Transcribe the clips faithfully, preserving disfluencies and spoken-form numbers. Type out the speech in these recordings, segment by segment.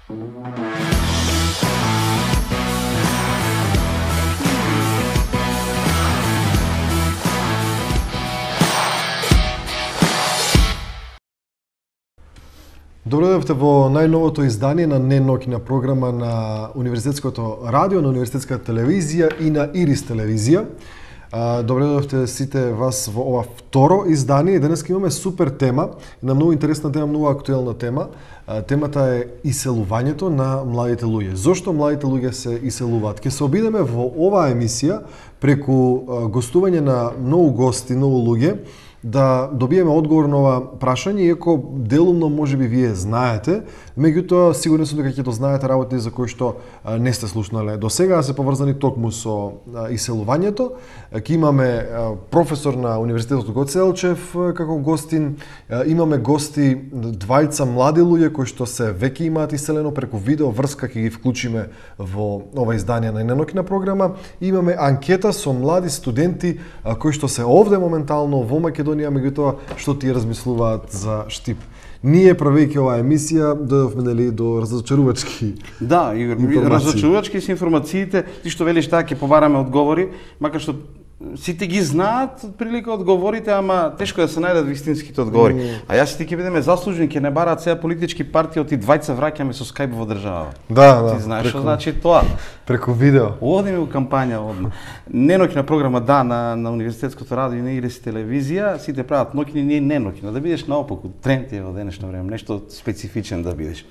Добредовте во најновото издание на неноќна програма на Универзитетското радио, на Универзитетската телевизија и на Ирис телевизија. Добредовте сите вас во ова второ издание. Денес имаме супер тема, една многу интересна тема, многу актуелна тема. Темата е иселувањето на младите луѓе. Зошто младите луѓе се иселуваат? Ке се обидеме во оваа емисија преку гостување на многу гости, многу луѓе, да добиеме одговор на ова прашање, иако делумно можеби вие знаете, меѓутоа сигурен сум дека ќе тоа знаете работи за кои што не сте слушнале. До сега се поврзани токму со иселувањето. Ќе имаме професор на Универзитетот Гоце Делчев како гостин, имаме гости двајца млади луѓе кои што се веќе имаат иселено преку видео врска, ќе ги вклучиме во ова издание на неноќна програма. Имаме анкета со млади студенти кои што се овде моментално во Македонија, меѓутоа што ти размислуваат за Штип. Ние, правејќи оваа емисија, дојдовме нели до разочарувачки. Да, Игор, разочарувачки се информациите, ти што велиш таа ќе побараме одговори, макар што сите ги знаат прилика одговорите, ама тешко да се најдат вистинските одговори. Mm. А јас и ти ќе бидеме заслужени, ќе не бараат сега политички партии, оти двајца враќаме со Skype во држава. Да, да. Ти знаеш што значи тоа? Преку видео. Одиме во кампања одма. Неноќна програма да на на Универзитетското радио и на Ирис телевизија, сите прават ноќни, не неноќна, да бидеш наопаку. Тренд е во денешно време, нешто специфичен да бидеш.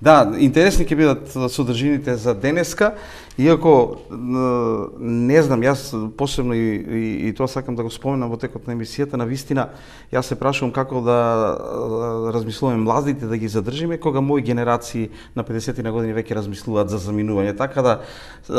Да, интересни ќе бидат содржините за денеска, иако не знам, јас посебно и, и, и тоа сакам да го споменам во текот на емисијата, на вистина јас се прашувам како да размислуваме младите да ги задржиме, кога мои генерации на педесет на години веќе размислуваат за заминување, така да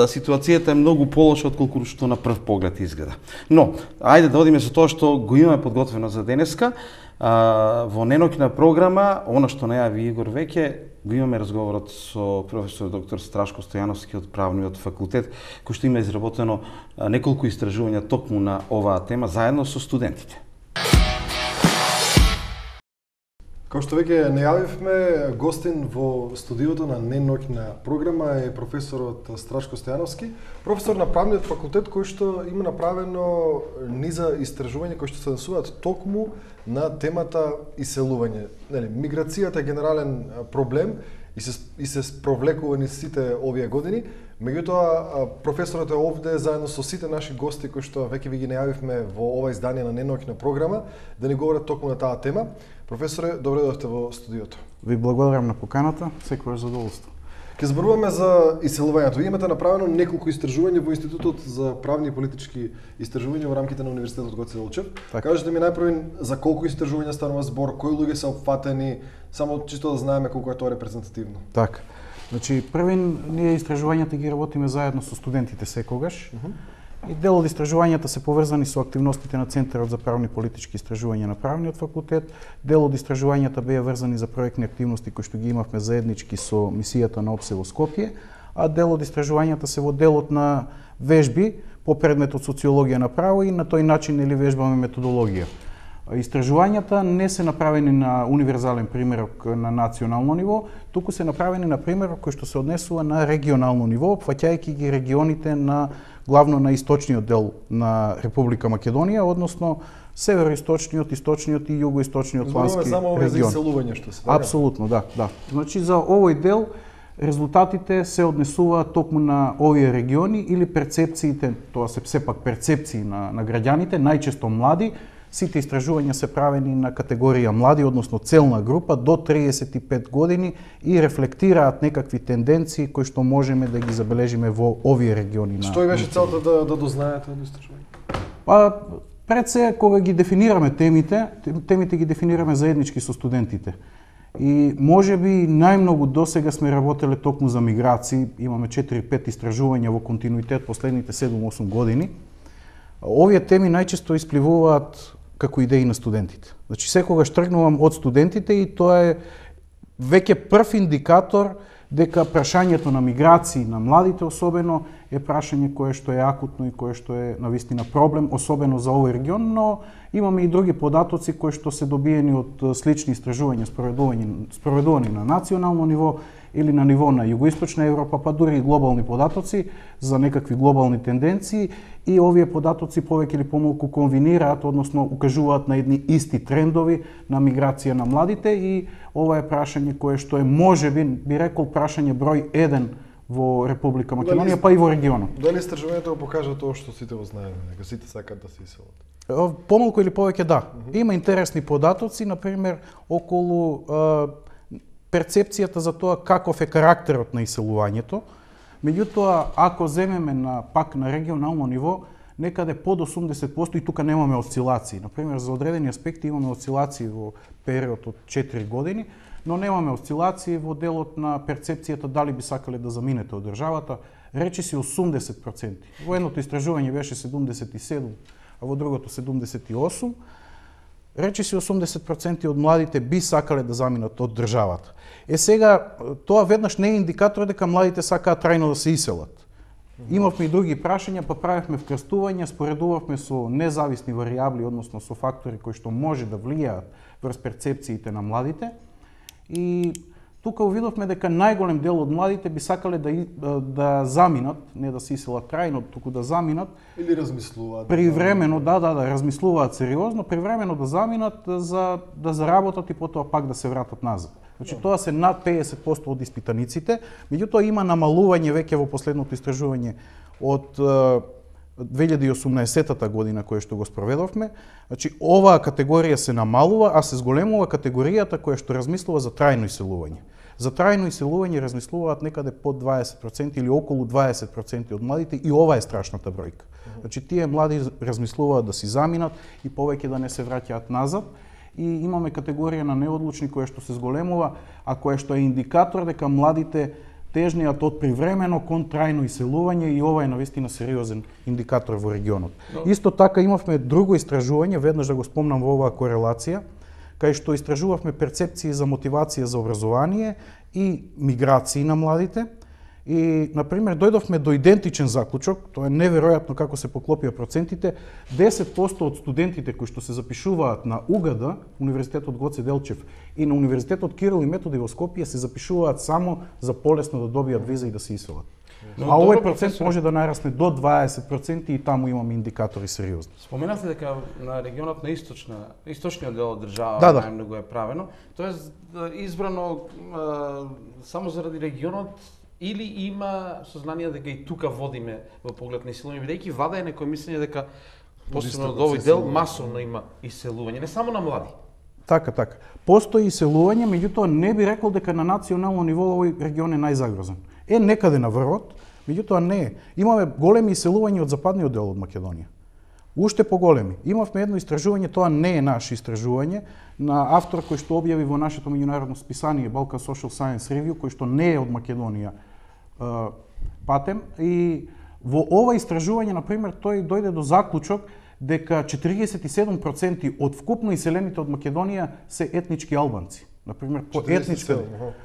ситуацијата е многу полоша отколку што на прв поглед изгледа. Но, ајде да одиме со тоа што го имаме подготвено за денеска. А, во неноќна програма, она што најави Игор веќе, го имаме разговорот со професор доктор Страшко Стојановски од Правниот факултет, кој што има изработено неколку истражувања токму на оваа тема заедно со студентите. Како што веќе најавивме, гостин во студиото на неноќна програма е професорот Страшко Стојановски, професор на Правниот факултет, кој што има направено низа истражувања кои што се однесуваат токму на темата иселување. Нели, миграцијата е генерален проблем и се и се спровлекува низ сите овие години. Меѓутоа, професорот е овде заедно со сите наши гости кои што веќе ви ги најавивме во ова издание на неноќна програма да ни говорат токму на таа тема. Професоре, добре дојдовте во студиото. Ви благодарам на поканата, секојаш задоволство. Ке зборуваме за иселувањето. Ви имате направено неколку истражувања во Институтот за правни и политички истражувања во рамките на Универзитетот Гоце Делчев. Кажете ми најпрво за колку истражувања станува збор, кои луѓе се опфатени, само чисто да знаеме колку е тоа репрезентативно. Така. Значи, првин ние истражувањата ги работиме заедно со студентите секогаш. Uh -huh. И дел од истражувањата се поврзани со активностите на Центарот за правни и политички истражувања на Правниот факултет. Дел од истражувањата беа врзани за проектни активности кои што ги имавме заеднички со мисијата на ОПСЕ во Скопје, а дел од истражувањата се во делот на вежби по предметот социологија на право и на тој начин или вежбаме методологија. Истражувањата не се направени на универзален примерок на национално ниво, туку се направени на примерок кој што се однесува на регионално ниво, опфаќајќи ги регионите на главно на источниот дел на Република Македонија, односно североисточниот, источниот и југоисточниот плански регион. Само овој за иселување што се така? Апсолутно, да, да. Значи за овој дел резултатите се однесуваат токму на овие региони или перцепциите, тоа се сепак перцепции на на граѓаните, најчесто млади. Сите истражувања се правени на категорија млади, односно целна група до триесет и пет години и рефлектираат некакви тенденции кои што можеме да ги забележиме во овие региони. Што е беше целта да да дознаете од истражувањето? Па пред се кога ги дефинираме темите, темите ги дефинираме заеднички со студентите. И можеби најмногу досега сме работеле токму за миграции, имаме четири-пет истражувања во континуитет последните седум-осум години. Овие теми најчесто испливуваат како идеи на студентите. Значи секогаш тргнувам од студентите и тоа е веќе прв индикатор дека прашањето на миграции на младите особено е прашање кое што е акутно и кое што е навистина проблем, особено за овој регион, но имаме и други податоци кои што се добиени од слични истражувања спроведувани, спроведувани на национално ниво или на ниво на Југоисточна Европа, па дури и глобални податоци за некакви глобални тенденции, и овие податоци повеќе или помалку комбинираат, односно укажуваат на едни исти трендови на миграција на младите, и ова е прашање кое што е можеби, би рекол, прашање број еден во Република Македонија, па и во регионот. Дали истражувањето го покажа тоа што сите го знаеме, дека сите сакаат да се иселат? Помалку или повеќе да. Uh -huh. Има интересни податоци, например, околу а, перцепцијата за тоа каков е карактерот на иселувањето. Меѓутоа, ако земеме на пак на регионално ниво, некаде под осумдесет проценти, и тука немаме осцилации. Например, за одредени аспекти имаме осцилации во период од четири години, но немаме осцилации во делот на перцепцијата дали би сакале да заминете од државата. Речи си осумдесет проценти. Во едното истражување беше седумдесет и седум, а во другото седумдесет и осум. Речи си осумдесет проценти од младите би сакале да заминат од државата. Е сега, тоа веднаш не е индикатор дека младите сакаат трајно да се иселат. Имавме и други прашања, па правевме вкрстувања, споредувавме со независни варијабли, односно со фактори кои што може да влијаат врз перцепциите на младите. И тука увидовме дека најголем дел од младите би сакале да, да заминат, не да се иселат трајно, туку да заминат. Или размислуваат. Привремено, да, да, да, размислуваат сериозно, привремено да заминат за да заработат и потоа пак да се вратат назад. Значи, тоа се над педесет проценти од испитаниците, меѓутоа има намалување веќе во последното истражување од две илјади и осумнаесетта година кое што го спроведовме. Значи, оваа категорија се намалува, а се зголемува категоријата која што размислува за трајно иселување. За трајно иселување размислуваат некаде под дваесет проценти или околу дваесет проценти од младите, и ова е страшната бројка. Значи, тие млади размислуваат да си заминат и повеќе да не се враќаат назад. И имаме категорија на неодлучни која што се зголемува, а која што е индикатор дека младите тежниот од привремено кон трајно иселување, и ова е навистина сериозен индикатор во регионот. Но... Исто така имавме друго истражување, веднаш да го спомнам во оваа корелација, кај што истражувавме перцепции за мотивација за образование и миграции на младите. И, например, дојдовме до идентичен заклучок, тоа е неверојатно како се поклопија процентите. десет проценти од студентите кои што се запишуваат на У Г Д, Универзитетот Гоце Делчев, и на Универзитетот Кирил и Методи во Скопје се запишуваат само за полесно да добијат виза и да се иселат. Но, а овој процент професор... може да нарасне до дваесет проценти, и таму имаме индикатори сериозни. Споменавте дека на регионот на источна, источниот дел од држава да, да. најмногу е правено. Тоест избрано а, само заради регионот, или има сознание дека и тука водиме во поглед на иселување, бидејќи влада е некој мислење дека посебно од овој дел масовно има иселување, не само на млади. Така, така. Постои иселување, меѓутоа не би рекол дека на национално ниво овој регион е најзагрозен. Е некаде на врвот, меѓутоа не е. Имаме големи иселувања од западниот дел од Македонија. Уште поголеми. Имавме едно истражување, тоа не е наше истражување, на автор кој што објави во нашето меѓународно списание Balkan Social Science Review, кој што не е од Македонија е, патем. И во ова истражување, например, тој дојде до заклучок дека четириесет и седум проценти од вкупно иселените од Македонија се етнички албанци. Например, по етничка.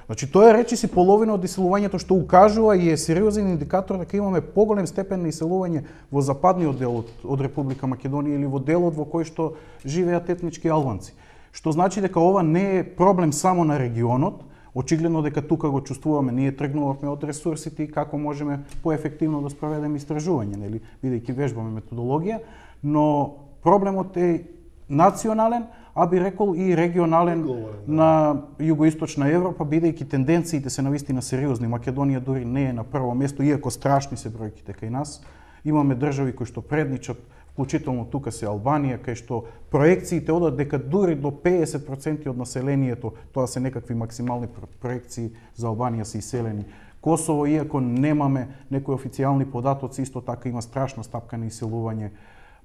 Значи, тоа речи си половина од иселувањето, што укажува и е сериозен индикатор дека имаме поголем степен на иселување во западниот дел од, од Република Македонија или во делот во кој што живеат етнички албанци. Што значи дека ова не е проблем само на регионот, очигледно дека тука го чувствуваме, ние тргнувавме од ресурсите и како можеме поефективно да спроведеме истражување, нели, бидејќи вежбаме методологија, но проблемот е национален, а би рекол и регионален на Југоисточна Европа, бидејќи тенденциите се навистина сериозни. Македонија дури не е на прво место, иако страшни се бројките кај нас. Имаме држави кои што предничат, вклучително тука се Албанија, кај што проекциите одат дека дури до педесет проценти од населението, тоа се некакви максимални проекции за Албанија се иселени. Косово, иако немаме некои официјални податоци, исто така има страшна стапка на иселување.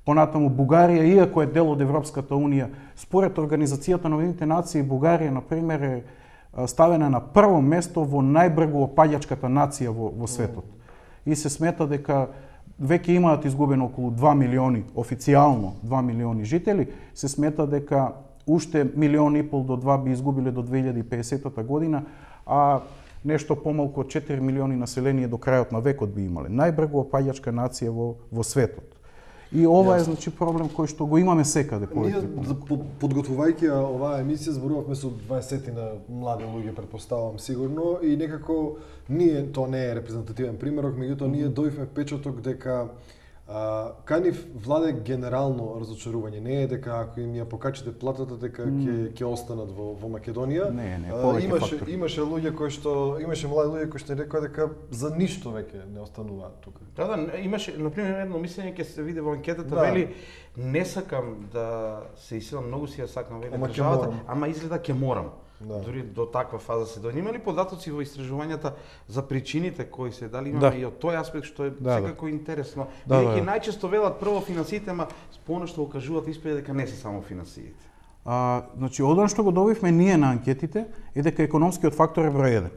Понатаму Бугарија, иако е дел од Европската унија, според Организацијата на Обединетите нации, Бугарија, например, е ставена на прво место во најбрзо опаѓачката нација во, во светот. И се смета дека веќе имаат изгубено околу два милиони, официјално два милиони жители, се смета дека уште милион и пол до два би изгубиле до две илјади и педесетта година, а нешто помалку од четири милиони население до крајот на векот би имале. Најбрзо опаѓачка нација во, во светот. И ова е значи проблем кој што го имаме секаде по Ние подготвувајќи оваа емисија зборувавме со дваесет на млади луѓе, претпоставувам сигурно, и некако ние, тоа не е репрезентативен примерок, меѓутоа ние дојдовме впечаток дека а, кај нив владе генерално разочарување. Не е дека ако им ја покачите платата дека ќе ќе останат во во Македонија. Не, не, а, имаше фактори. имаше луѓе кои што имаше млади луѓе кои што рекоа дека за ништо веќе не остануваат тука. Да, да, имаше на пример едно мислење ќе се види во анкетата, Да. вели не сакам да се иселам, многу си ја сакам вели Ама ќе државата, морам. ама изгледа ќе морам. Да. Дури до таква фаза се дојде. Има ли податоци во истражувањата за причините кои се, дали имаме Да. и од тој аспект што е Да, секако интересно. Да, Бидејќи да. најчесто велат прво финансиите, ама споно што го кажуваат испаѓа дека не се само финансиите. А, значи, одон што го добивме ние на анкетите е дека економскиот фактор е број еден.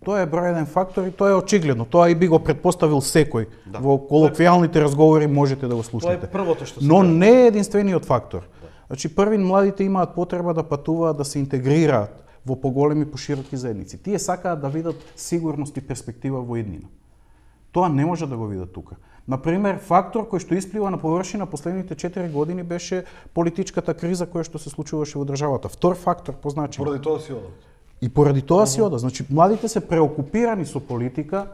Тоа е број еден фактор и тоа е очигледно. Тоа и би го предпоставил секој. Да. Во колоквијалните разговори можете да го Тоа слушнете. е првото што се Но кажува. не е единствениот фактор. Значи, првин младите имаат потреба да патуваат, да се интегрираат во поголеми, пошироки заедници. Тие сакаат да видат сигурност и перспектива во иднина. Тоа не може да го видат тука. Например, фактор кој што исплива на површина последните четири години беше политичката криза која што се случуваше во државата. Втор фактор по значење. Поради тоа си одат. И поради тоа си ода. Значи, младите се преокупирани со политика,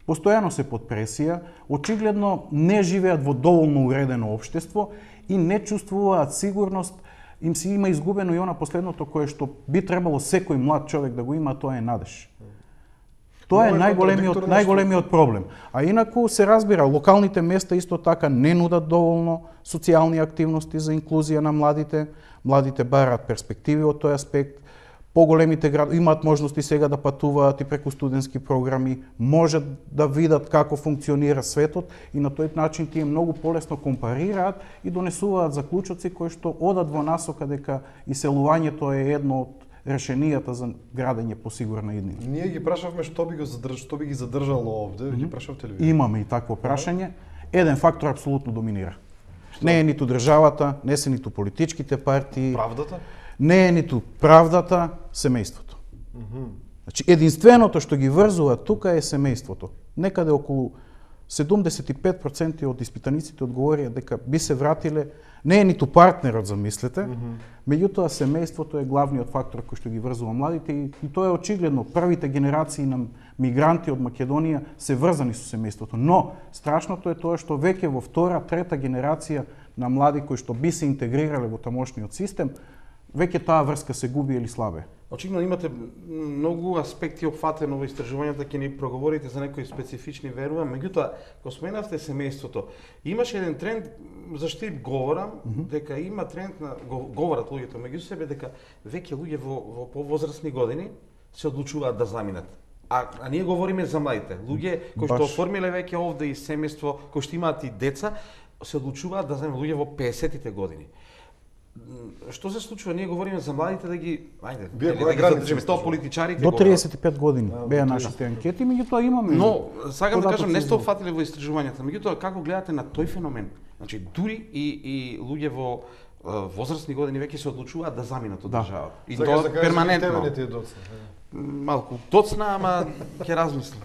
постојано се под пресија, очигледно не живеат во доволно уредено општество и не чувствуваат сигурност, им се има изгубено и она последното кое што би требало секој млад човек да го има, тоа е надеж. Тоа е Много е најголемиот контрадикторно најголемиот проблем. А инаку се разбира, локалните места исто така не нудат доволно социјални активности за инклузија на младите. Младите бараат перспективи од тој аспект. Поголемите градови имаат можности сега да патуваат и преку студентски програми, можат да видат како функционира светот и на тој начин тие многу полесно компарираат и донесуваат заклучоци кои што одат во насока дека иселувањето е едно од решенијата за градење по сигурна иднина. Ние ги прашавме што би го задрж, што би ги задржало овде, ги прашавте ли ви? Имаме и такво прашање. Еден фактор апсолутно доминира. Не е ниту државата, не се ниту политичките партии, Правдата? не е ниту правдата, семејството. Значи, единственото што ги врзува тука е семејството. Некаде околу седумдесет и пет проценти од испитаниците одговорија дека би се вратиле, не е ниту партнерот, замислете, меѓутоа семејството е главниот фактор кој што ги врзува младите и, и тоа е очигледно. Првите генерации на мигранти од Македонија се врзани со семејството, но страшното е тоа што веќе во втора, трета генерација на млади кои што би се интегрирале во тамошниот систем, веќе таа врска се губи или слабе. Очигледно имате многу аспекти опфатено во истражувањата, ќе ни проговорите за некои специфични, верувам. Меѓутоа, кога споменавте семејството, имаше еден тренд, зашто и говорам, mm -hmm. дека има тренд на говорат луѓето меѓу себе дека веќе луѓе во, во повозрастни години се одлучуваат да заминат. А, а ние говориме за младите луѓе кои што Баш. оформиле веќе овде и семејство, кои што имаат и деца, се одлучуваат да заминат луѓе во песетите години. Што се случува? Ние говориме за младите да ги, ајде, Вие да која ги граница задржиме, тоа политичарите До го триесет и пет години А, беа до нашите анкети, меѓутоа имаме. Но, сакам да кажам, не сте податоци за- опфатиле во истражувањата, меѓутоа како гледате на тој феномен? Значи, дури и, и луѓе во е, возрастни години веќе се одлучуваат да заминат од Да. државата. И Сакаш тоа да кажеш, перманентно. тебе не ти е доцна. Малку доцна, ама ќе размислам.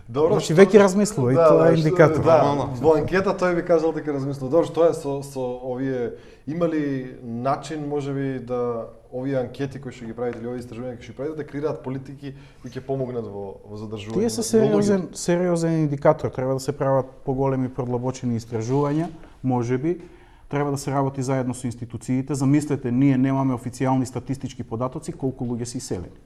Добро, Значи, што- веќе размислува и тоа е што- индикатор. Да, Нормално. во анкета тој би кажал дека размислува. Добро, што е со, со овие, има ли начин, можеби, да овие анкети кои што ги правите или овие истражувања кои што ги правите, да креираат политики кои ќе помогнат во, во задржување? Тие се на сериозен, луѓето? сериозен индикатор. Треба да се прават поголеми продлабочени истражувања, можеби. Треба да се работи заедно со институциите. Замислете, ние немаме официјални статистички податоци колку луѓе се иселени.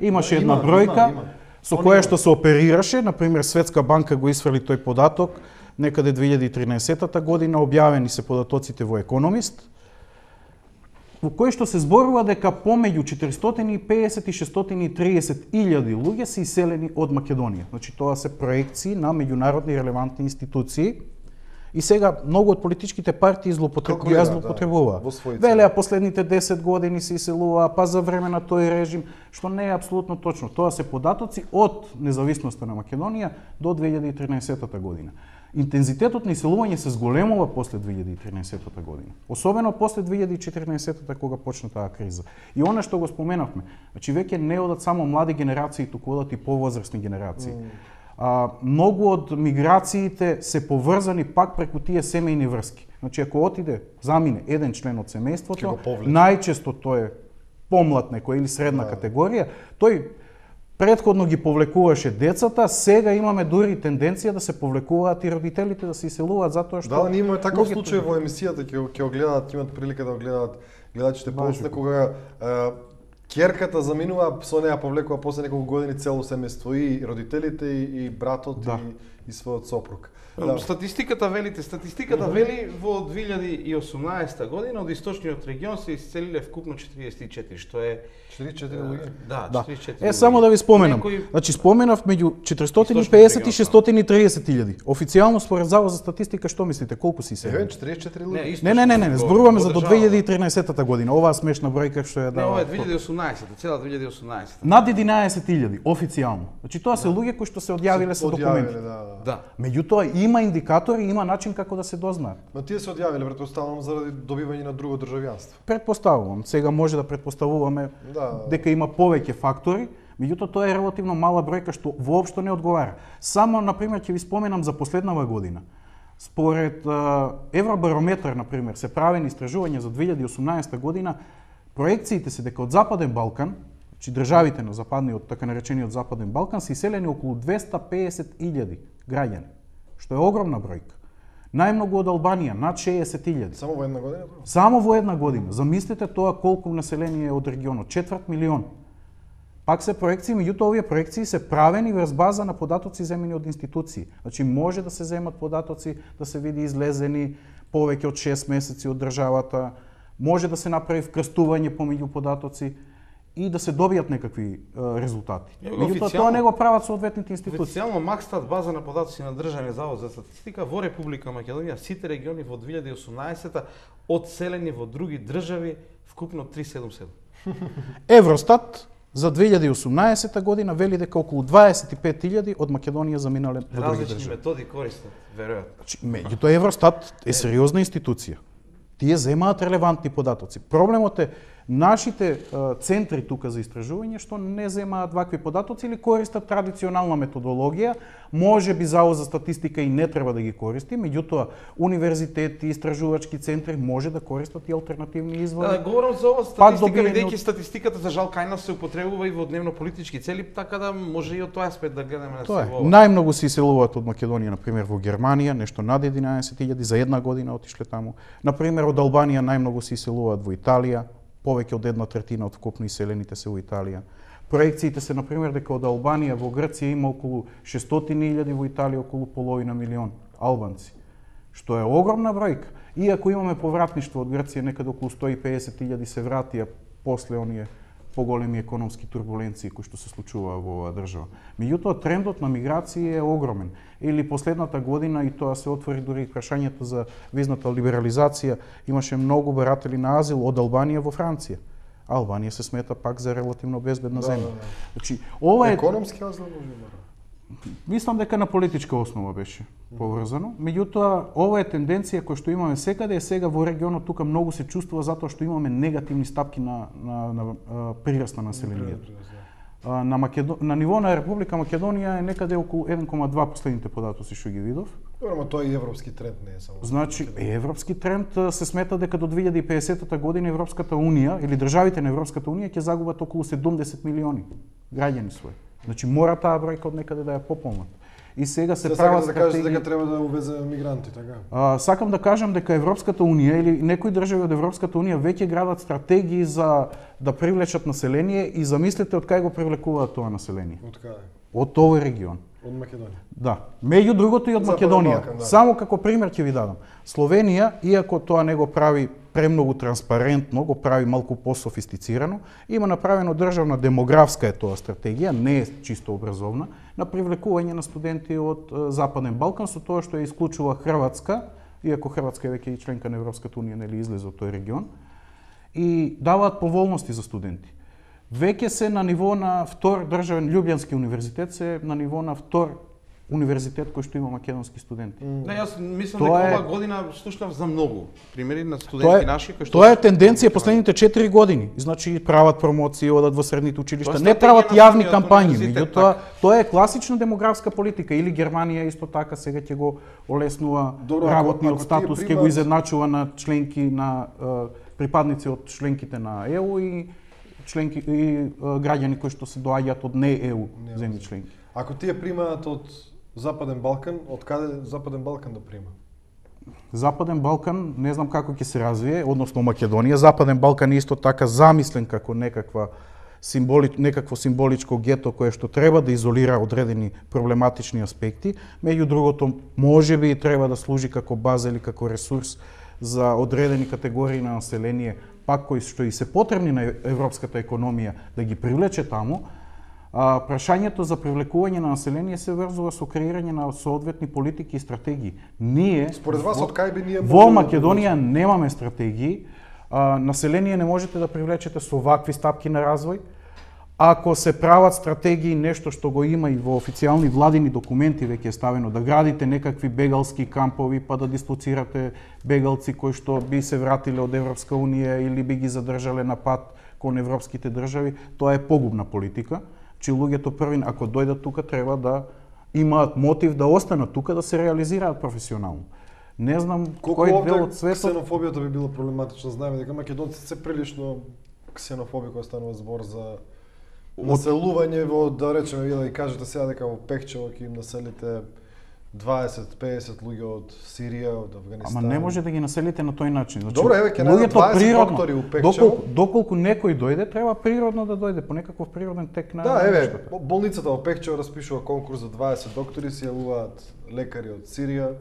Имаше Да, една има, бројка има, има. со Они која има. што се оперираше, например Светска банка го исфрли тој податок некаде две илјади и тринаесета година, објавени се податоците во Економист, во кој што се зборува дека помеѓу четиристотини и песет и шестстотини и триесет илјади луѓе се иселени од Македонија. Значи тоа се проекции на меѓународни релевантни институции. И сега многу од политичките партии злоупотреб... Калкулираат, ја злоупотребуваа. да, во своји Велеа последните десет години се иселуваа, па за време на тој режим, што не е апсолутно точно. Тоа се податоци од независноста на Македонија до две илјади и тринаесета година. Интензитетот на иселување се зголемува после две илјади и тринаесета година. Особено после две илјади и четирнаесета кога почна таа криза. И она што го споменавме, значи веќе не одат само млади генерации, туку одат и повозрастни генерации. Mm. А, многу од миграциите се поврзани пак преку тие семејни врски. Значи, ако отиде, замине еден член од семејството, најчесто тој е помлад некој или средна да. категорија, тој предходно ги повлекуваше децата, сега имаме дури тенденција да се повлекуваат и родителите да се иселуваат затоа што Да, ние имаме таков случај во емисијата, ќе ќе го гледаат, имаат прилика да го гледаат гледачите после кога е, ќерката заминува, со неа повлекува после неколку години цело семејство и родителите и, и братот да. и, и својот сопруг. Да. Статистиката велите, статистиката вели во две илјади и осумнаесета година од источниот регион се исцелиле вкупно четириесет и четири, што е четириесет и четири луѓе. Да, да. четириесет и четири. Е, само да ви споменам. Некој... Значи споменав меѓу четиристотини и песет и шестстотини и триесет илјади. Официјално според Завод за статистика што мислите колку се иселиле? Е, четириесет и четири луѓе. Не, не, не, не, не, зборуваме за до две илјади и тринаесета година. Оваа смешна бројка што ја дава. Не, ова е две илјади и осумнаесета, цела две илјади и осумнаесета. Над единаесет илјади официјално. Значи тоа се луѓе кои што се одјавиле со документи. Да, да. Да. Меѓутоа има индикатори, има начин како да се дознаат. Но тие се одјавиле претпоставувам заради добивање на друго државјанство. Предпоставувам, сега може да предпоставуваме да. дека има повеќе фактори, меѓутоа тоа е релативно мала бројка што воопшто не одговара. Само на пример ќе ви споменам за последнава година. Според Евробарометар, на пример, се правени истражувања за две илјади и осумнаесета година, проекциите се дека од Западен Балкан, значи државите на западниот, така наречениот Западен Балкан, се иселени околу двеста песет илјади граѓани, што е огромна бројка. Најмногу од Албанија, над шеесет илјади. Само во една година? Само во една година. Замислете тоа колку население е од регионот, четврт милион. Пак се проекции, меѓутоа овие проекции се правени врз база на податоци земени од институции. Значи може да се земат податоци, да се види излезени повеќе од шест месеци од државата, може да се направи вкрстување помеѓу податоци и да се добијат некакви е, резултати. Меѓутоа тоа не го прават соодветните институции. Официјално Макстат, база на податоци на Државниот завод за статистика, во Република Македонија сите региони во две илјади и осумнаесета одселени во други држави вкупно триста седумдесет и седум. Евростат за две илјади и осумнаесета година вели дека околу дваесет и пет илјади од Македонија заминале во други држави. Различни методи користат, веројатно. Значи, меѓутоа Евростат е сериозна институција. Тие земаат релевантни податоци. Проблемот е нашите е, центри тука за истражување што не земаат вакви податоци или користат традиционална методологија. Може би Завод за статистика и не треба да ги користи, меѓутоа универзитети, истражувачки центри може да користат и алтернативни извори. Да, говорам за ова статистика, бидејќи статистиката за жал кај нас се употребува и во дневно политички цели, така да може и од тој аспект да гледаме на тоа се е. во. Најмногу се иселуваат од Македонија, на пример во Германија, нешто над единаесет илјади за една година отишле таму. На пример од Албанија најмногу се иселуваат во Италија, повеќе од една третина од вкупно иселените се во Италија. Проекциите се, например, дека од Албанија во Грција има околу шестстотини илјади, во Италија околу половина милион албанци, што е огромна бројка. Иако имаме повратништво од Грција, некаде околу сто и песет илјади се вратија после оние поголеми економски турбуленции кои што се случуваа во оваа држава. Меѓутоа трендот на миграција е огромен. Или последната година, и тоа се отвори дури и прашањето за визната либерализација, имаше многу баратели на азил од Албанија во Франција. Албанија се смета пак за релативно безбедна да, земја. Да, да. Значи, ова е економски азил може да. Мислам дека на политичка основа беше поврзано. Меѓутоа, ова е тенденција која што имаме секаде, е сега во регионот тука многу се чувствува затоа што имаме негативни стапки на на, на, на прираст на населението. На Македо... на ниво на Република Македонија е некаде околу еден кoma два последните податоци што ги видов. Добро, тоа е европски тренд, не е само. Значи, европски тренд се смета дека до две илјади и педесетата година Европската унија или државите на Европската унија ќе загубат околу седумдесет милиони граѓани своји. Значи мора таа бројка од некаде да ја пополнат. И сега се да прават да стратегии. дека треба да увезе мигранти, така. А, сакам да кажам дека Европската унија или некои држави од Европската унија веќе градат стратегии за да привлечат население и замислете од кај го привлекуваат тоа население. Од каде? Од овој регион. Од Македонија. Да. Меѓу другото и од Западен Македонија. Балкан, да. Само како пример ќе ви дадам. Словенија, иако тоа не го прави премногу транспарентно, го прави малку пософистицирано, има направено државна демографска е тоа стратегија, не е чисто образовна, на привлекување на студенти од Западен Балкан, со тоа што ја исклучува Хрватска, иако Хрватска е веќе и членка на Европската унија, нели излезе од тој регион, и даваат поволности за студенти. Веќе се на ниво на втор државен Љубљански универзитет се на ниво на втор универзитет кој што има македонски студенти. Не, јас мислам Тоа дека е- ова година слушнав за многу примери на Тоа студенти е, наши кои што тоа е тенденција последните четири години. Значи прават промоции, одат во средните училишта, Тоа е не стратегија прават на јавни самиот кампањи, универзитет, меѓутоа така. тоа е класична демографска политика или Германија исто така сега ќе го олеснува Добро, ако- работниот ако тие статус, ќе примат- го изедначува на членки на е, припадници од членките на Е У и членки и е, граѓани кои што се доаѓаат од не Е У земји членки. Ако тие примаат од Западен Балкан, од каде Западен Балкан да прима? Западен Балкан не знам како ќе се развие, односно Македонија. Западен Балкан е исто така замислен како некаква символи, некакво символичко гето кое што треба да изолира одредени проблематични аспекти, меѓу другото можеби и треба да служи како база или како ресурс за одредени категории на население, пак кои што и се потребни на европската економија да ги привлече таму. А, прашањето за привлекување на население се врзува со креирање на соодветни политики и стратегии. Ние Според вас, од кај би ние во можеле да Македонија немаме стратегии. А, население не можете да привлечете со вакви стапки на развој. Ако се прават стратегии, нешто што го има и во официјални владини документи веќе е ставено, да градите некакви бегалски кампови, па да дислоцирате бегалци кои што би се вратиле од Европска Унија или би ги задржале на пат кон европските држави, тоа е погубна политика. Че луѓето првин, ако дојдат тука, треба да имаат мотив да останат тука, да се реализираат професионално. Не знам Колку кој овде дел од светот... ксенофобијата би било проблематично. Знаеме дека македонците се прилично ксенофоби кога станува збор за населување во, да речеме, вие да ги кажете сега дека во Пехчево ќе им населите дваесет до песет луѓе од Сирија, од Авганистан. Ама не може да ги населите на тој начин. Значи, Добро, еве, ќе најдат луѓето дваесет природно, доктори у Пекчево. Доколку, доколку некој дојде, треба природно да дојде по некаков природен тек на Да, еве, нештото. болницата во Пехчево распишува конкурс за дваесет доктори, се јавуваат лекари од Сирија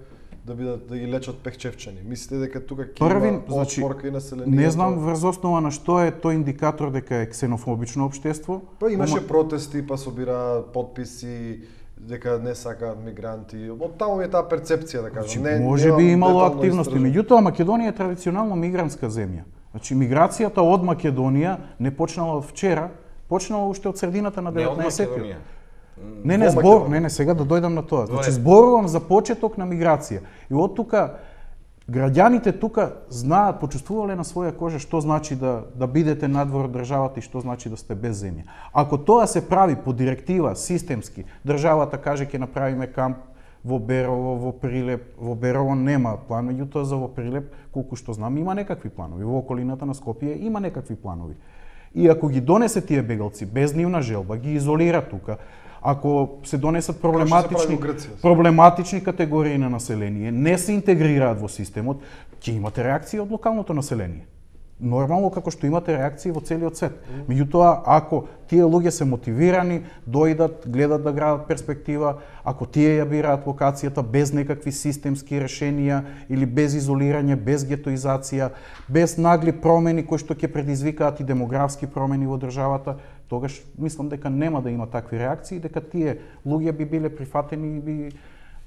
да бидат да ги лечат пехчевчани. Мислите дека тука ќе Првин, има значи, отпорка и населението? не знам врз основа на што е тој индикатор дека е ксенофобично општество. Па имаше Ама- протести, па собира подписи дека не сакаат мигранти. Од таму е таа перцепција, да кажам. Значи, Не, може немам би имало детално активности, истражено. меѓутоа Македонија е традиционално мигрантска земја. Значи миграцијата од Македонија не почнала од вчера, почнала уште од средината на Не од деветнаесеттиот. Македонија. Не, не, Во збор, Македонија. не, не, сега да дојдам на тоа. Значи Добре. зборувам за почеток на миграција. И од тука граѓаните тука знаат, почувствувале на своја кожа што значи да да бидете надвор од државата и што значи да сте без земја. Ако тоа се прави по директива, системски, државата каже ќе направиме камп во Берово, во Прилеп, во Берово нема план, меѓутоа за во Прилеп, колку што знам, има некакви планови. Во околината на Скопје има некакви планови. И ако ги донесе тие бегалци без нивна желба, ги изолира тука, ако се донесат прави проблематични во Грција. проблематични категории на население, не се интегрираат во системот, ќе имате реакции од локалното население. Нормално како што имате реакции во целиот свет. Меѓутоа, ако тие луѓе се мотивирани, дојдат, гледат да градат перспектива, ако тие ја бираат локацијата без некакви системски решенија или без изолирање, без гетоизација, без нагли промени кои што ќе предизвикаат и демографски промени во државата, тогаш мислам дека нема да има такви реакции, дека тие луѓе би биле прифатени и би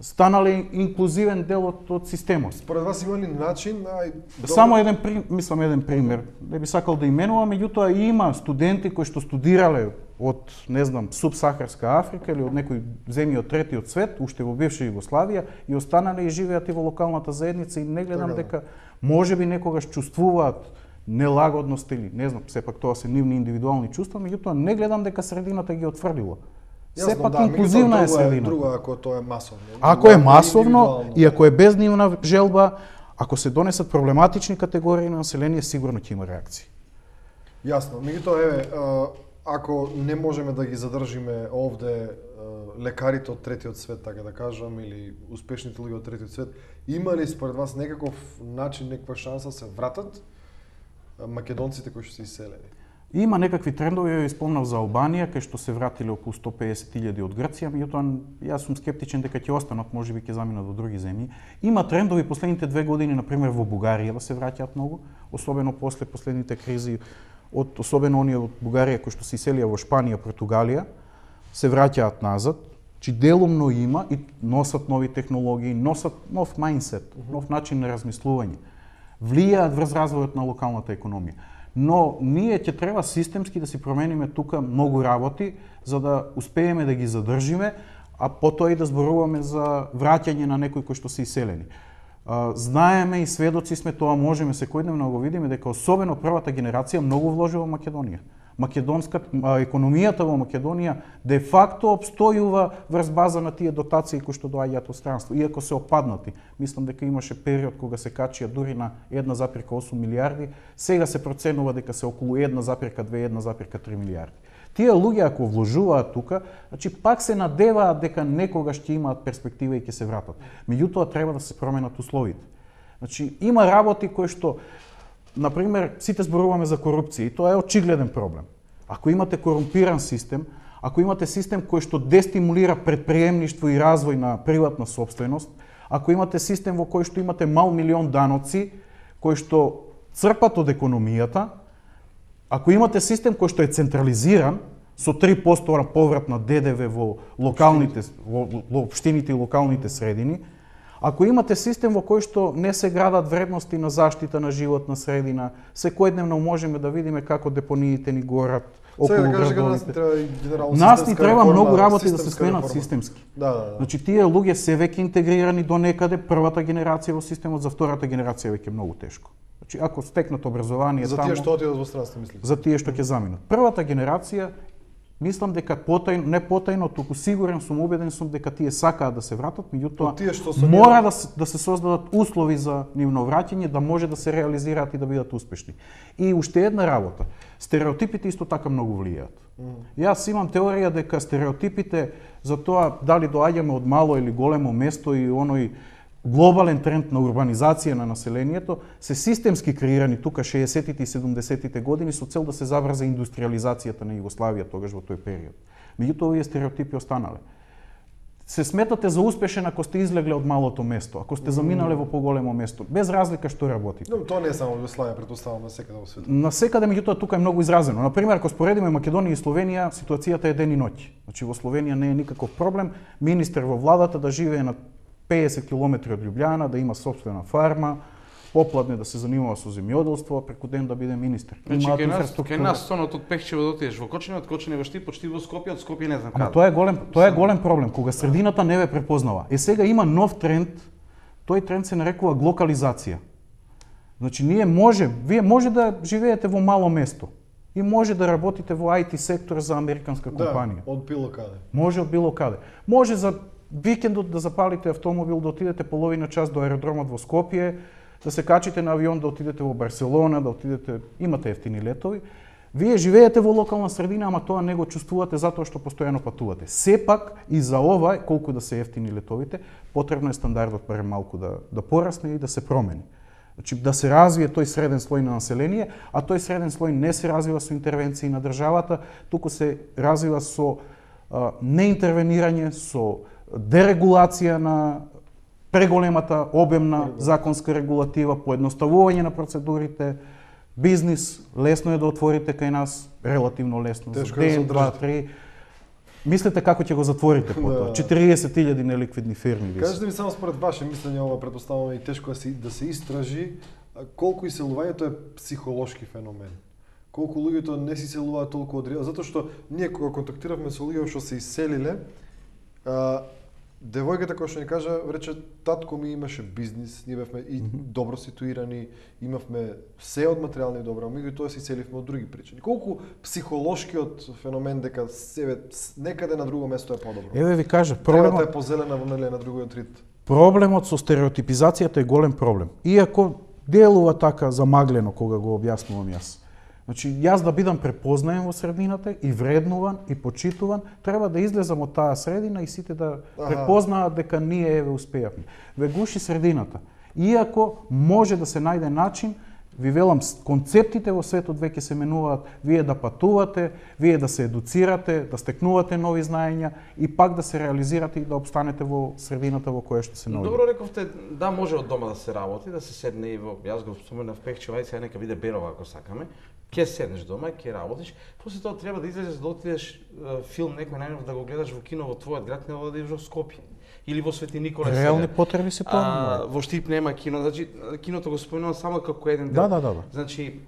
станале инклузивен дел од, од системот. Според вас има ли начин, ај добро, Само еден при, мислам еден пример, не би сакал да именувам, меѓутоа има студенти кои што студирале од, не знам, субсахарска Африка или од некои земји од третиот свет, уште во бивша Југославија, и останале и живеат и во локалната заедница и не гледам Така да. дека можеби некогаш чувствуваат нелагодност или не знам, сепак тоа се нивни индивидуални чувства, меѓутоа не гледам дека средината ги отфрлила. Јасно, Сепак да, инклузивна меѓутоа, е друго средината. Друго ако тоа е масовно. Ако е Друго масовно индивидуално. и ако е без нивна желба, ако се донесат проблематични категории на население, сигурно ќе има реакции. Јасно. Меѓутоа, еве, а, ако не можеме да ги задржиме овде а, лекарите од третиот свет, така да кажам, или успешните луѓе од третиот свет, има ли според вас некаков начин, некаква шанса се вратат а, македонците кои што се иселени? Има некакви трендови, ја спомнав за Албанија, кај што се вратиле околу сто и песет илјади од Грција, меѓутоа јас сум скептичен дека ќе останат, можеби ќе заминат во други земји. Има трендови последните две години, на пример во Бугарија да се враќаат многу, особено после последните кризи, од особено оние од Бугарија кои што се иселија во Шпанија, Португалија, се враќаат назад, че делумно има и носат нови технологии, носат нов мајндсет, нов начин на размислување. Влијаат врз развојот на локалната економија. Но ние ќе треба системски да си промениме тука многу работи за да успееме да ги задржиме, а потоа и да зборуваме за враќање на некои кои што се иселени. Знаеме и сведоци сме, тоа можеме секојдневно да го видиме, дека особено првата генерација многу вложила во Македонија. Македонска економијата во Македонија де факто обстојува врз база на тие дотации кои што доаѓаат од странство, иако се опаднати. Мислам дека имаше период кога се качија дури на една запирка осум милијарди, сега се проценува дека се околу една запирка две, една запирка три милијарди. Тие луѓе ако вложуваат тука, значи пак се надеваат дека некогаш ќе имаат перспектива и ќе се вратат. Меѓутоа треба да се променат условите. Значи има работи кои што, например, сите зборуваме за корупција и тоа е очигледен проблем. Ако имате корумпиран систем, ако имате систем кој што дестимулира предприемништво и развој на приватна собственост, ако имате систем во кој што имате мал милион даноци кои што црпат од економијата, ако имате систем кој што е централизиран со три проценти поврат на Д Д В во локалните во, во општините и локалните средини, ако имате систем во кој што не се градат вредности на заштита на животна средина, секојдневно можеме да видиме како депониите ни горат околу да кажа, градовите. Нас ни треба и генерално Нас ни треба реформа, многу работи да се сменат реформа. системски. Да, да, да. Значи тие луѓе се веќе интегрирани до некаде, првата генерација во системот, за втората генерација веќе многу тешко. Значи ако стекнат образование за таму, тие што отидат во странство, мислите? за тие што ќе заминат. Првата генерација, мислам дека потајно, не потајно, туку сигурен сум, убеден сум дека тие сакаат да се вратат, меѓутоа мора да се, да се создадат услови за нивно враќање, да може да се реализираат и да бидат успешни. И уште една работа, стереотипите исто така многу влијаат. Mm. Јас имам теорија дека стереотипите за тоа дали доаѓаме од мало или големо место и оној глобален тренд на урбанизација на населението се системски креирани тука шеесеттите и седумдесеттите години со цел да се забрза индустриализацијата на Југославија тогаш во тој период. Меѓутоа овие стереотипи останале. Се сметате за успешен ако сте излегле од малото место, ако сте заминале во поголемо место, без разлика што работите. Но тоа не е само во Југославија, претпоставувам насекаде во светот. Насекаде, меѓутоа тука е многу изразено. На пример, ако споредиме Македонија и Словенија, ситуацијата е ден и ноќ. Значи во Словенија не е никаков проблем министер во владата да живее на педесет километри од Љубљана, да има собствена фарма, попладне да се занимава со земјоделство, преку ден да биде министер. Значи кај нас, кај нас сонот од Пехчево да отидеш во Кочани, од Кочани во Штип, од Штип во Скопје, од Скопје не знам каде. Ама тоа е голем, тоа е голем проблем кога средината не ве препознава. Е сега има нов тренд, тој тренд се нарекува глокализација. Значи ние може, вие може да живеете во мало место и може да работите во I T сектор за американска компанија. Да, од било каде. Може од било каде. Може за викендот да запалите автомобил, да отидете половина час до аеродромот во Скопје, да се качите на авион, да отидете во Барселона, да отидете, имате ефтини летови. Вие живеете во локална средина, ама тоа не го чувствувате затоа што постојано патувате. Сепак и за ова, колку да се ефтини летовите, потребно е стандардот барем малку да да порасне и да се промени. Значи да се развие тој среден слој на население, а тој среден слој не се развива со интервенции на државата, туку се развива со а, неинтервенирање, со дерегулација на преголемата обемна законска регулатива, поедноставување на процедурите, бизнис, лесно е да отворите кај нас, релативно лесно, за ден, два, три. Мислите како ќе го затворите потоа? четириесет илјади неликвидни фирми. Кажете ми само според ваше мислење, ова претпоставуваме и тешко да се, да се истражи, колку иселувањето е психолошки феномен. Колку луѓето не се иселуваат толку од реал, затоа што ние кога контактиравме со луѓе што се иселиле, а, девојката која што ни кажа, рече, татко ми имаше бизнис, ние бевме и добро ситуирани, имавме се од материјални добра, меѓутоа се иселивме од други причини. Колку психолошкиот феномен дека себе некаде на друго место е подобро. Еве ви кажа, проблемот е позелена во неле на другиот рит. Проблемот со стереотипизацијата е голем проблем. Иако делува така замаглено кога го објаснувам јас. Значи, јас да бидам препознаен во средината и вреднуван и почитуван, треба да излезам од таа средина и сите да препознаат дека ние еве успеавме. Ве гуши средината. Иако може да се најде начин, ви велам, концептите во светот веќе се менуваат, вие да патувате, вие да се едуцирате, да стекнувате нови знаења и пак да се реализирате и да обстанете во средината во која што се наоѓате. Добро рековте, да може од дома да се работи, да се седне и во, јас го споменав Пехчево, ајде сега нека биде Берова ако сакаме. Ќе седнеш дома, ќе работиш, после тоа треба да излезеш да отидеш филм некој најнов да го гледаш во кино во твојот град, нема да идеш во Скопје или во Свети Николај. Реални потреби се тоа. Во Штип нема кино, значи киното го спомнувам само како еден дел. Да, да, да, да. Значи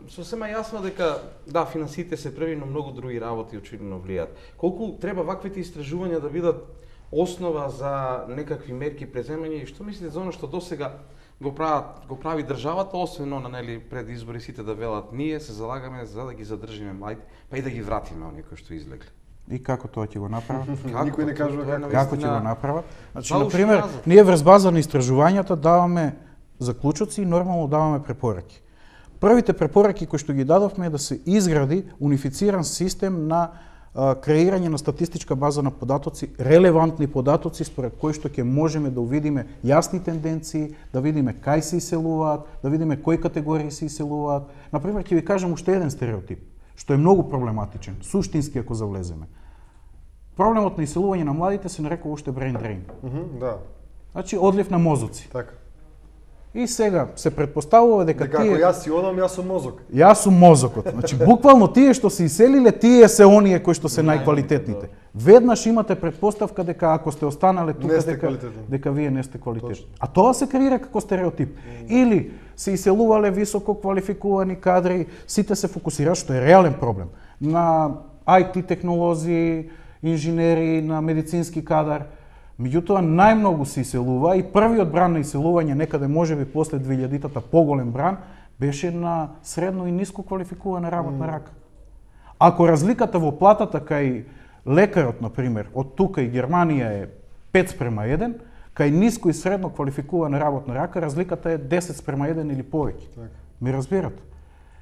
сосема јасно дека да, финансите се први, но многу други работи очигледно влијаат. Колку треба ваквите истражувања да бидат основа за некакви мерки преземање и што мислите за оно што досега го прават, го прави државата, освен на нели пред избори сите да велат ние се залагаме за да ги задржиме младите, па и да ги вратиме оние кои што излегле. И како тоа ќе го направат? Никој не кажува како. Како ќе го направат? Значи, на пример, ние врз база на истражувањата даваме заклучоци и нормално даваме препораки. Првите препораки кои што ги дадовме е да се изгради унифициран систем на а, креирање на статистичка база на податоци, релевантни податоци според кои што ќе можеме да увидиме јасни тенденции, да видиме кај се иселуваат, да видиме кои категории се иселуваат. На пример, ќе ви кажам уште еден стереотип, што е многу проблематичен, суштински ако завлеземе. Проблемот на иселување на младите се нарекува уште brain drain. Mm-hmm, да. Значи одлив на мозоци. Така. И сега се претпоставува дека дека тие... ако јас си одам, јас сум мозок. Јас сум мозокот. Значи буквално тие што се иселиле, тие се оние кои што се најквалитетните. Веднаш имате претпоставка дека ако сте останале тука дека дека вие не сте квалитетни. А тоа се креира како стереотип. Mm. Или се иселувале високо квалификувани кадри, сите се фокусираат, што е реален проблем, на ай ти технолози, инженери, на медицински кадар. Меѓутоа најмногу се иселува и првиот бран на иселување некаде можеби после двилјадитата поголем бран беше на средно и ниско квалификувана работна mm. рака. Ако разликата во платата кај лекарот, на пример, од тука и Германија е пет спрема еден, кај ниско и средно квалификувана работна рака разликата е десет спрема еден или повеќе. Так. Ми разбирате?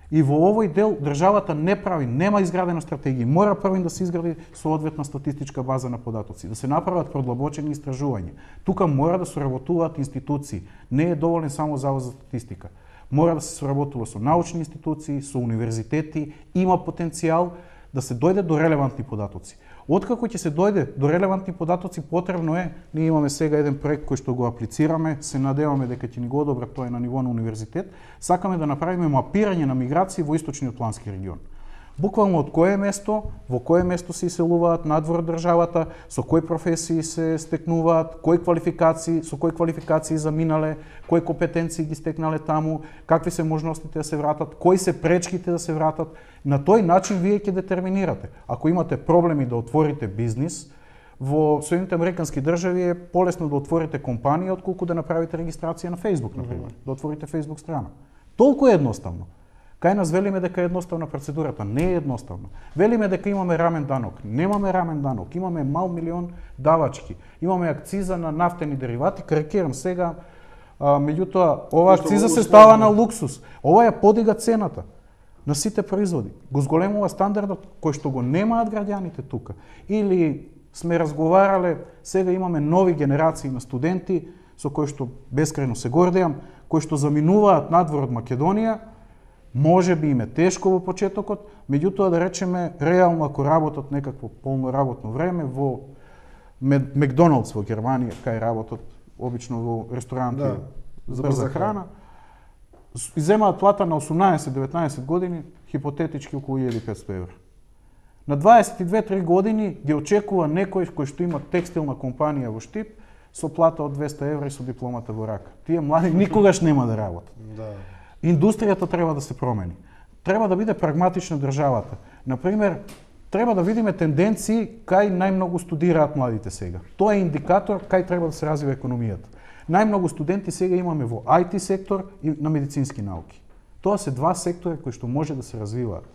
И во овој дел државата не прави, нема изградена стратегија. Мора првин да се изгради соодветна статистичка база на податоци, да се направат продлабочени истражувања. Тука мора да соработуваат институции. Не е доволен само Завод за статистика. Мора да се соработува со научни институции, со универзитети, има потенцијал да се дојде до релевантни податоци. Откако ќе се дојде до релевантни податоци, потребно е, ние имаме сега еден проект кој што го аплицираме, се надеваме дека ќе ни го одобрат, тоа е на ниво на универзитет, сакаме да направиме мапирање на миграции во источниот плански регион. Буквално од кое место, во кое место се иселуваат надвор од државата, со кои професии се стекнуваат, кои квалификации, со кои квалификации заминале, кои компетенции ги стекнале таму, какви се можностите да се вратат, кои се пречките да се вратат. На тој начин вие ќе детерминирате. Ако имате проблеми да отворите бизнис, во Соединените американски држави е полесно да отворите компанија отколку да направите регистрација на Facebook, например, mm-hmm. да отворите Facebook страна. Толку е едноставно. Кај нас велиме дека е едноставна процедурата, не е едноставна. Велиме дека имаме рамен данок, немаме рамен данок, имаме мал милион давачки, имаме акциза на нафтени деривати, карикирам сега, а, меѓутоа ова акциза се става на луксус, ова ја подига цената на сите производи, го зголемува стандардот кој што го немаат граѓаните тука. Или сме разговарале, сега имаме нови генерации на студенти со кои што бескрајно се гордеам, кои што заминуваат надвор од Македонија. Може би им е тешко во почетокот, меѓутоа да речеме реално ако работат некакво полно работно време во Макдоналдс во Германија, кај работат обично во ресторанти да, за брза храна, иземаат плата на осумнаесет до деветнаесет години, хипотетички околу илјада и петстотини евра. На дваесет и две три години ги очекува некој кој што има текстилна компанија во Штип со плата од двесте евра и со дипломата во рака. Тие млади никогаш нема да работат. Да. Индустријата треба да се промени. Треба да биде прагматична државата. Например, треба да видиме тенденции кај најмногу студираат младите сега. Тоа е индикатор кај треба да се развива економијата. Најмногу студенти сега имаме во ай ти сектор и на медицински науки. Тоа се два сектори кои што може да се развиваат.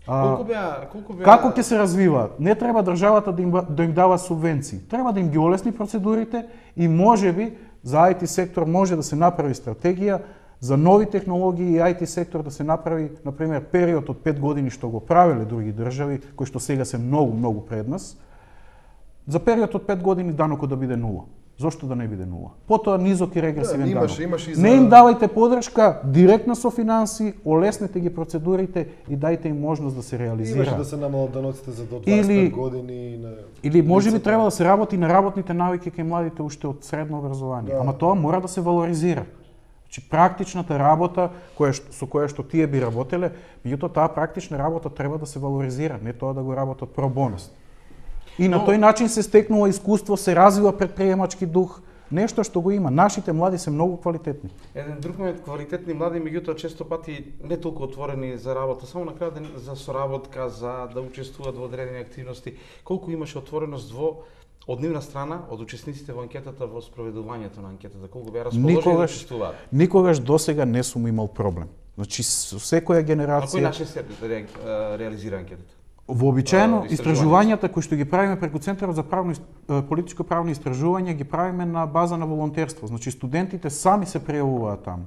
Колку беа, колку беа... Како ќе се развиваат? Не треба државата да им, да им дава субвенции. Треба да им ги олесни процедурите и можеби за ай ти сектор може да се направи стратегија за нови технологии и ай ти сектор да се направи, например, период од пет години што го правеле други држави, кои што сега се многу, многу пред нас, за период од пет години данокот да биде нула. Зошто да не биде нула? Потоа низок и регресивен да, имаш, данок. имаш и за... Не им давајте подршка директно со финанси, олеснете ги процедурите и дајте им можност да се реализира. Имаше да се намалат даноците за до дваесет или, години. На... Или може би треба да се работи на работните навики кај младите уште од средно образование. Да. Ама тоа мора да се валоризира. Значи практичната работа која што, со која што тие би работеле, меѓутоа таа практична работа треба да се валоризира, не тоа да го работат про бонус. И на Но... тој начин се стекнува искуство, се развива предприемачки дух, нешто што го има. Нашите млади се многу квалитетни. Еден друг момент, квалитетни млади, меѓутоа често пати не толку отворени за работа, само на крај за соработка, за да учествуваат во одредени активности. Колку имаше отвореност во од нивна страна, од учесниците во анкетата, во спроведувањето на анкетата, колку беа расположени да учествуваат? Никогаш досега не сум имал проблем. Значи, со секоја генерација... На кој начин се ре, реализира анкетата? Вообичаено, истражувањата кои што ги правиме преку Центарот за правно, политичко правни истражувања ги правиме на база на волонтерство. Значи, студентите сами се пријавуваат таму.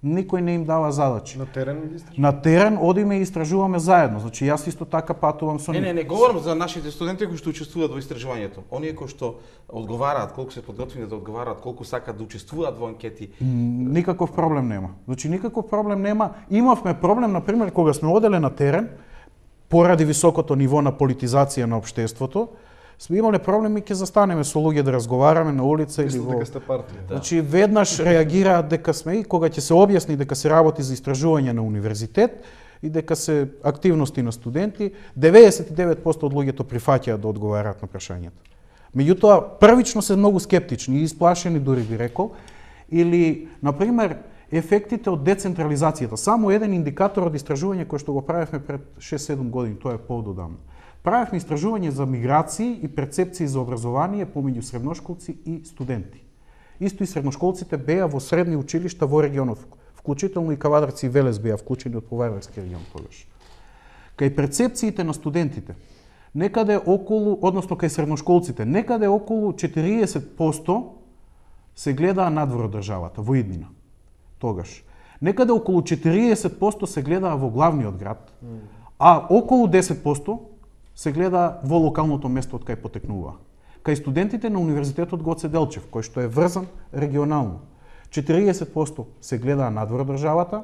Никој не им дава задачи. На терен ги истражуваме? На терен одиме и истражуваме заедно. Значи јас исто така патувам со нив. Не, не, не говорам за нашите студенти кои што учествуваат во истражувањето. Оние кои што одговараат, колку се подготвени да одговараат, колку сакаат да учествуваат во анкети. Никаков проблем нема. Значи никаков проблем нема. Имавме проблем на пример кога сме оделе на терен поради високото ниво на политизација на општеството. Сме имале проблеми, ќе застанеме со луѓе да разговараме на улица или во... дека сте партија. Да. Значи веднаш реагираат дека сме и кога ќе се објасни дека се работи за истражување на универзитет и дека се активности на студенти, деветдесет и девет проценти од луѓето прифаќаат да одговараат на прашањата. Меѓутоа, првично се многу скептични и исплашени, дури би рекол, или на пример ефектите од децентрализацијата. Само еден индикатор од истражување кој што го правевме пред шест-седум години, тоа е поодамна. Правевме истражување за миграции и перцепции за образование помеѓу средношколци и студенти. Исто и средношколците беа во средни училишта во регионот, вклучително и Кавадарци и Велес беа вклучени од Повардарски регион тогаш. Кај перцепциите на студентите, некаде околу, односно кај средношколците, некаде околу четириесет проценти се гледаа надвор од државата, во иднина. Тогаш. Некаде околу четириесет проценти се гледаа во главниот град, а околу десет проценти се гледа во локалното место од кај потекнува. Кај студентите на Универзитетот Гоце Делчев, кој што е врзан регионално, четириесет проценти се гледаа надвор од државата,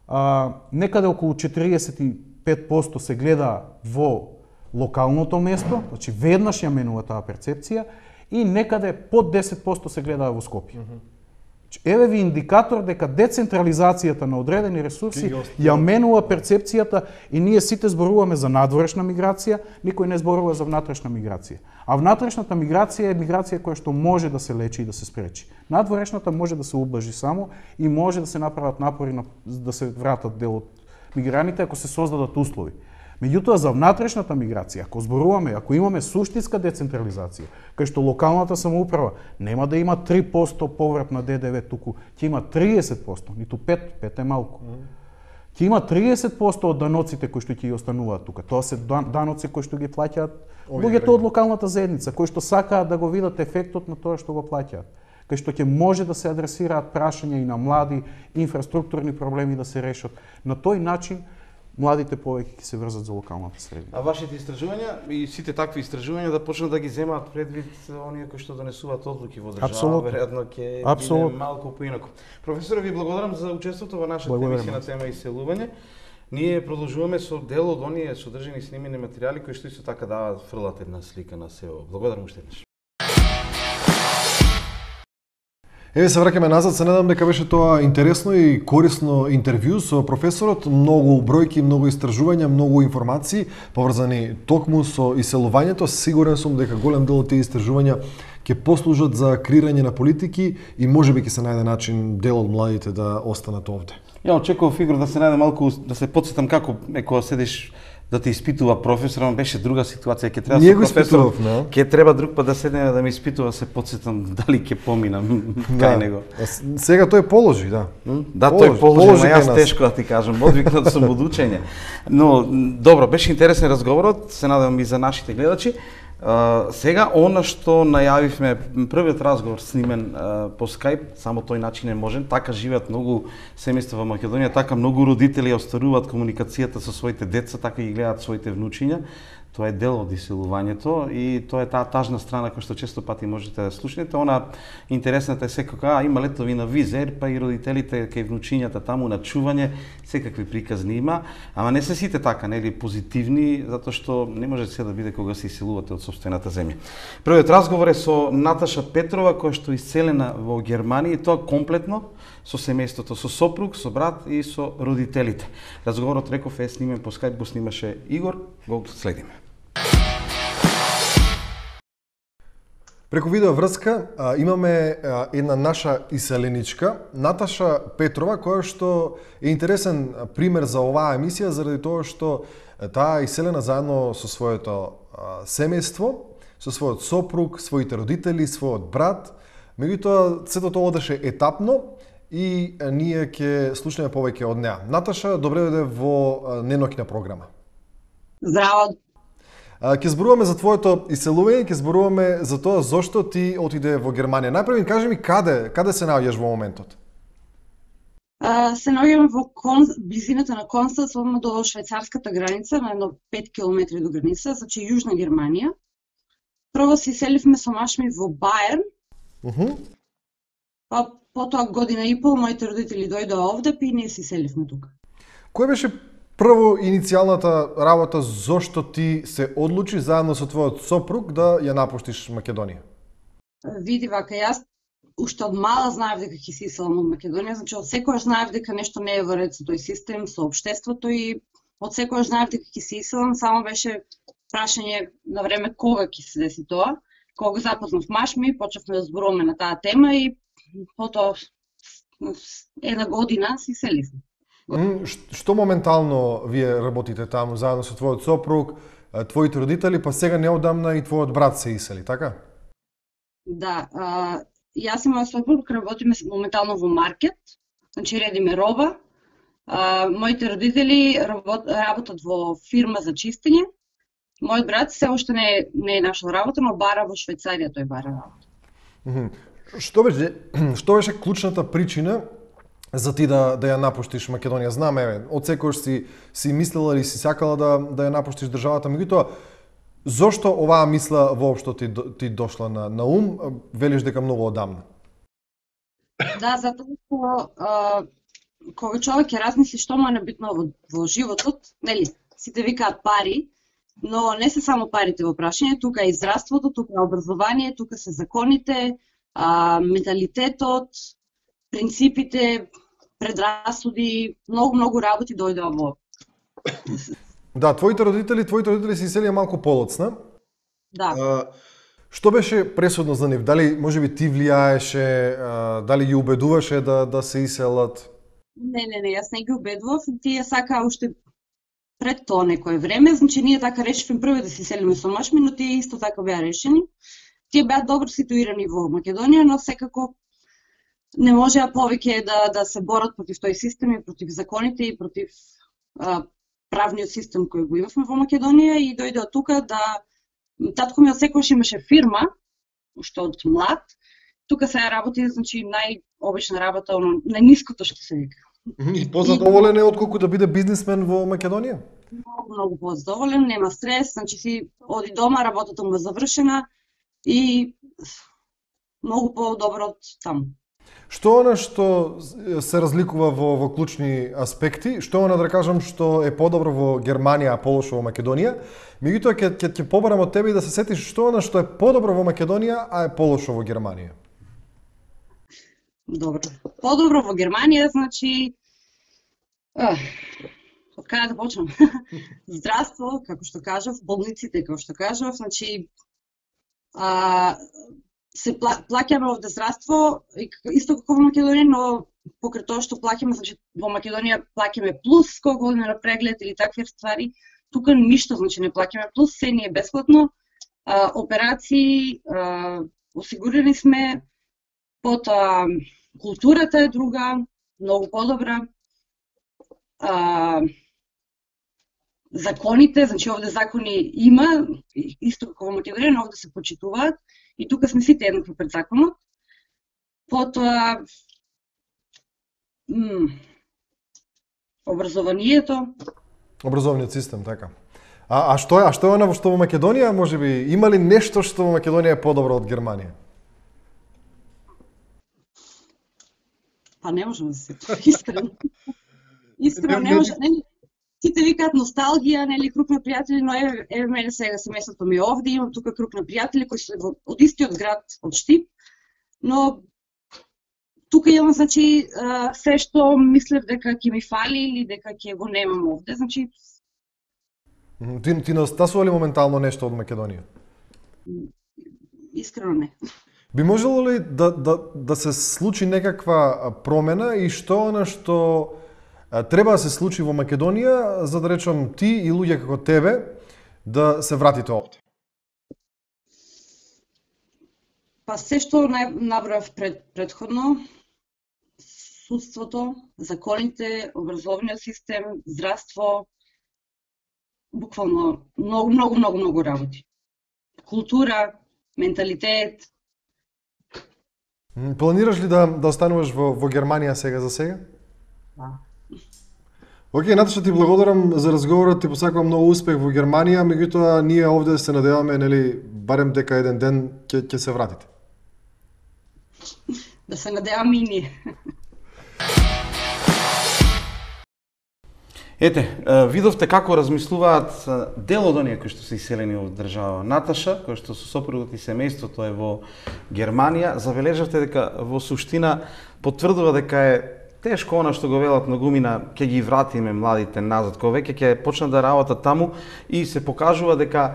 а, некаде околу четириесет и пет проценти се гледа во локалното место, значи веднаш ја менува таа перцепција, и некаде под десет проценти се гледаа во Скопје. Mm -hmm. Еве ви индикатор дека децентрализацијата на одредени ресурси ја менува перцепцијата и ние сите зборуваме за надворешна миграција, никој не зборува за внатрешна миграција. А внатрешната миграција е миграција која што може да се лечи и да се спречи. Надворешната може да се ублажи само и може да се направат напори на, да се вратат дел од миграните ако се создадат услови. Меѓутоа, за внатрешната миграција, ако зборуваме, ако имаме суштинска децентрализација, кај што локалната самоуправа нема да има три проценти поврат на Д Д В, туку ќе има триесет проценти, ниту пет, пет е малку. Ќе има триесет проценти од даноците кои што ќе ги остануваат тука. Тоа се даноци кои што ги плаќаат луѓето од локалната заедница, кои што сакаат да го видат ефектот на тоа што го плаќаат. Кај што ќе може да се адресираат прашања и на млади, инфраструктурни проблеми да се решат. На тој начин младите повеќе ќе се врзат за локалната средина. А вашите истражувања и сите такви истражувања да почнат да ги земаат предвид оние кои што донесуваат одлуки во држава, веројатно ќе биде малку поинаку. Професоре, ви благодарам за учеството во нашата емисија на тема иселување. Ние продолжуваме со дел од оние содржани снимени материјали кои што исто така даваат фрлат една слика на село. Благодарам уште еднаш. Еве се враќаме назад, се надам дека беше тоа интересно и корисно интервју со професорот, многу бројки, многу истражувања, многу информации поврзани токму со иселувањето. Сигурен сум дека голем дел од тие истражувања ќе послужат за креирање на политики и можеби ќе се најде начин дел од младите да останат овде. Ја очекував Игор да се најде малку, да се потсетам како е кога седиш да те испитува професор, ама беше друга ситуација, ќе треба со професор, no? Ќе треба друг пат да седнеме да ме испитува, се потсетам дали ќе поминам кај да. него. Сега тој положи, да. Да, положи, тој положи, положи ама јас тешко да ти кажам, одвикнат сум од учење. Но добро, беше интересен разговорот, се надевам и за нашите гледачи. Uh, сега, она што најавивме, првиот разговор снимен uh, по Skype, само тој начин е можен, така живеат многу семејства во Македонија, така многу родители ја остваруваат комуникацијата со своите деца, така ги гледаат своите внучиња, Тоа е дел од иселувањето и тоа е таа тажна страна која што често пати можете да слушнете. Она интересната е секако, а има летови на Визер, па и родителите кај внучињата таму на чување, секакви приказни има, ама не се сите така, нели позитивни, затоа што не може се да биде кога се иселувате од сопствената земја. Првиот разговор е со Наташа Петрова, која што е иселена во Германија, и тоа комплетно со семејството, со сопруг, со брат и со родителите. Разговорот, реков, е снимен по Skype, го снимаше Игор, го следиме. Преку видео врска а, имаме а, една наша иселеничка, Наташа Петрова, која што е интересен пример за оваа емисија, заради тоа што таа иселена заедно со своето а, семејство, со својот сопруг, своите родители, својот брат. Меѓутоа, сето тоа одеше етапно и а, ние ќе слушнеме повеќе од неа. Наташа, добре дојде во неноќна програма. Здраво. Ќе зборуваме за твоето иселување, ќе зборуваме за тоа зошто ти отиде во Германија. Најпрво кажи ми каде, каде се наоѓаш во моментот? Uh, се наоѓам во Кон... близината на Констанц, до швајцарската граница, на едно пет километри до граница, значи јужна Германија. Прво се иселивме со маш ми во Баерн. Uh -huh. Па потоа година и пол моите родители дојдоа овде, и ние се иселивме тука. Кој беше прво иницијалната работа зошто ти се одлучи заедно со твојот сопруг да ја напуштиш Македонија? Види вака, јас уште од мала знаев дека ќе се иселам од Македонија, значи од секојаш знаев дека нешто не е во ред со тој систем, со општеството, и од секојаш знаев дека ќе се иселам, само беше прашање на време кога ќе се деси тоа. Кога го запознав маш ми, почнавме да зборуваме на таа тема и потоа една година се иселивме. Што моментално вие работите таму заедно со твојот сопруг, твоите родители, па сега неодамна и твојот брат се исели, така? Да, а, јас и мојот сопруг работиме моментално во маркет, значи редиме роба. А, моите родители работ, работат во фирма за чистење. Мојот брат се уште не, не е нашол работа, но бара во Швајцарија тој бара работа. Mm -hmm. Што беше што беше клучната причина за ти да да ја напуштиш Македонија? Знам, еве, од секојаш си си мислела или си сакала да да ја напуштиш државата, меѓутоа зошто оваа мисла воопшто ти ти дошла на на ум? Велиш дека многу одамна. Да, затоа што кога човек ќе размисли што му е набитно во, во животот, нели, сите викаат пари, но не се само парите во прашање, тука е и здравството, тука е образование, тука се законите, а, менталитетот, принципите, предрасуди, многу многу работи дојдоа во. Да, твоите родители, твоите родители се иселија малку полоцна. Да. А, што беше пресудно за нив? Дали можеби ти влијаеше, а, дали ги убедуваше да да се иселат? Не, не, не, јас не ги убедував, тие сакаа уште пред тоа некое време, значи ние така решивме прво да се иселиме со маш ми, но тие исто така беа решени. Тие беа добро ситуирани во Македонија, но секако не можеа повеќе да да се борат против тој систем и против законите и против а, правниот систем кој го имавме во Македонија, и дојдоа тука да татко ми од секогаш имаше фирма, уште од млад. Тука се работи, значи најобична работа, оно најниското што се вика. И позадоволен е отколку да биде бизнисмен во Македонија? Многу, многу позадоволен, нема стрес, значи си оди дома, работата му е завршена и многу по-добро од таму. Што она што се разликува во, во клучни аспекти? Што она да кажам што е подобро во Германија, а полошо во Македонија? Меѓутоа ќе ќе ќе побарам од тебе и да се сетиш што она што е подобро во Македонија, а е полошо во Германија. Добро. Подобро во Германија, значи а, од каде да почнам? Здравство, како што кажав, болниците, како што кажав, значи а, се пла, плаќаме овде здравство, исто како во Македонија, но покрај тоа што плаќаме, значи во Македонија плаќаме плюс кога одиме на преглед или такви ствари, тука ништо, значи не плаќаме плюс, се ни е бесплатно, а, операции, а, осигурени сме, потоа културата е друга, многу подобра, а, законите, значи овде закони има, исто како во Македонија, но овде се почитуваат, и тука сме сите еднакви пред законот. Потоа м, образованието. Образовниот систем, така. А, а што е, а што е она што во Македонија, можеби, има ли нешто што во Македонија е подобро од Германија? Па не можам да се сетам, искрено. Искрено не може, нели, сите викаат носталгија, нели, круг на пријатели, но еве, еве мене сега семејството ми е овде, имам тука круг на пријатели кои се од истиот град, од Штип, но тука имам, значи, се што мислев дека ќе ми фали или дека ќе го немам овде, значи... Ти, ти настасува ли моментално нешто од Македонија? Искрено не. Би можело ли да, да, да се случи некаква промена и што она што треба да се случи во Македонија, за да речам ти и луѓе како тебе, да се вратите овде? Па се што набрав пред, предходно, судството, законите, образовниот систем, здравство, буквално многу, многу, многу, многу работи. Култура, менталитет. Планираш ли да, да остануваш во, во Германија сега за сега? Да. Океј, Наташа, ти благодарам за разговорот, ти посакувам многу успех во Германија, меѓутоа ние овде се надеваме, нели, барем дека еден ден ќе ќе се вратите. Да се надеваме и ние. Ете, видовте како размислуваат дел од оние кои што се иселени од држава. Наташа, кој што со сопругот и семејството е во Германија, забележавте дека во суштина потврдува дека е тешко она што го велат многумина, ќе ги вратиме младите назад, кога веќе ќе почнат да работат таму и се покажува дека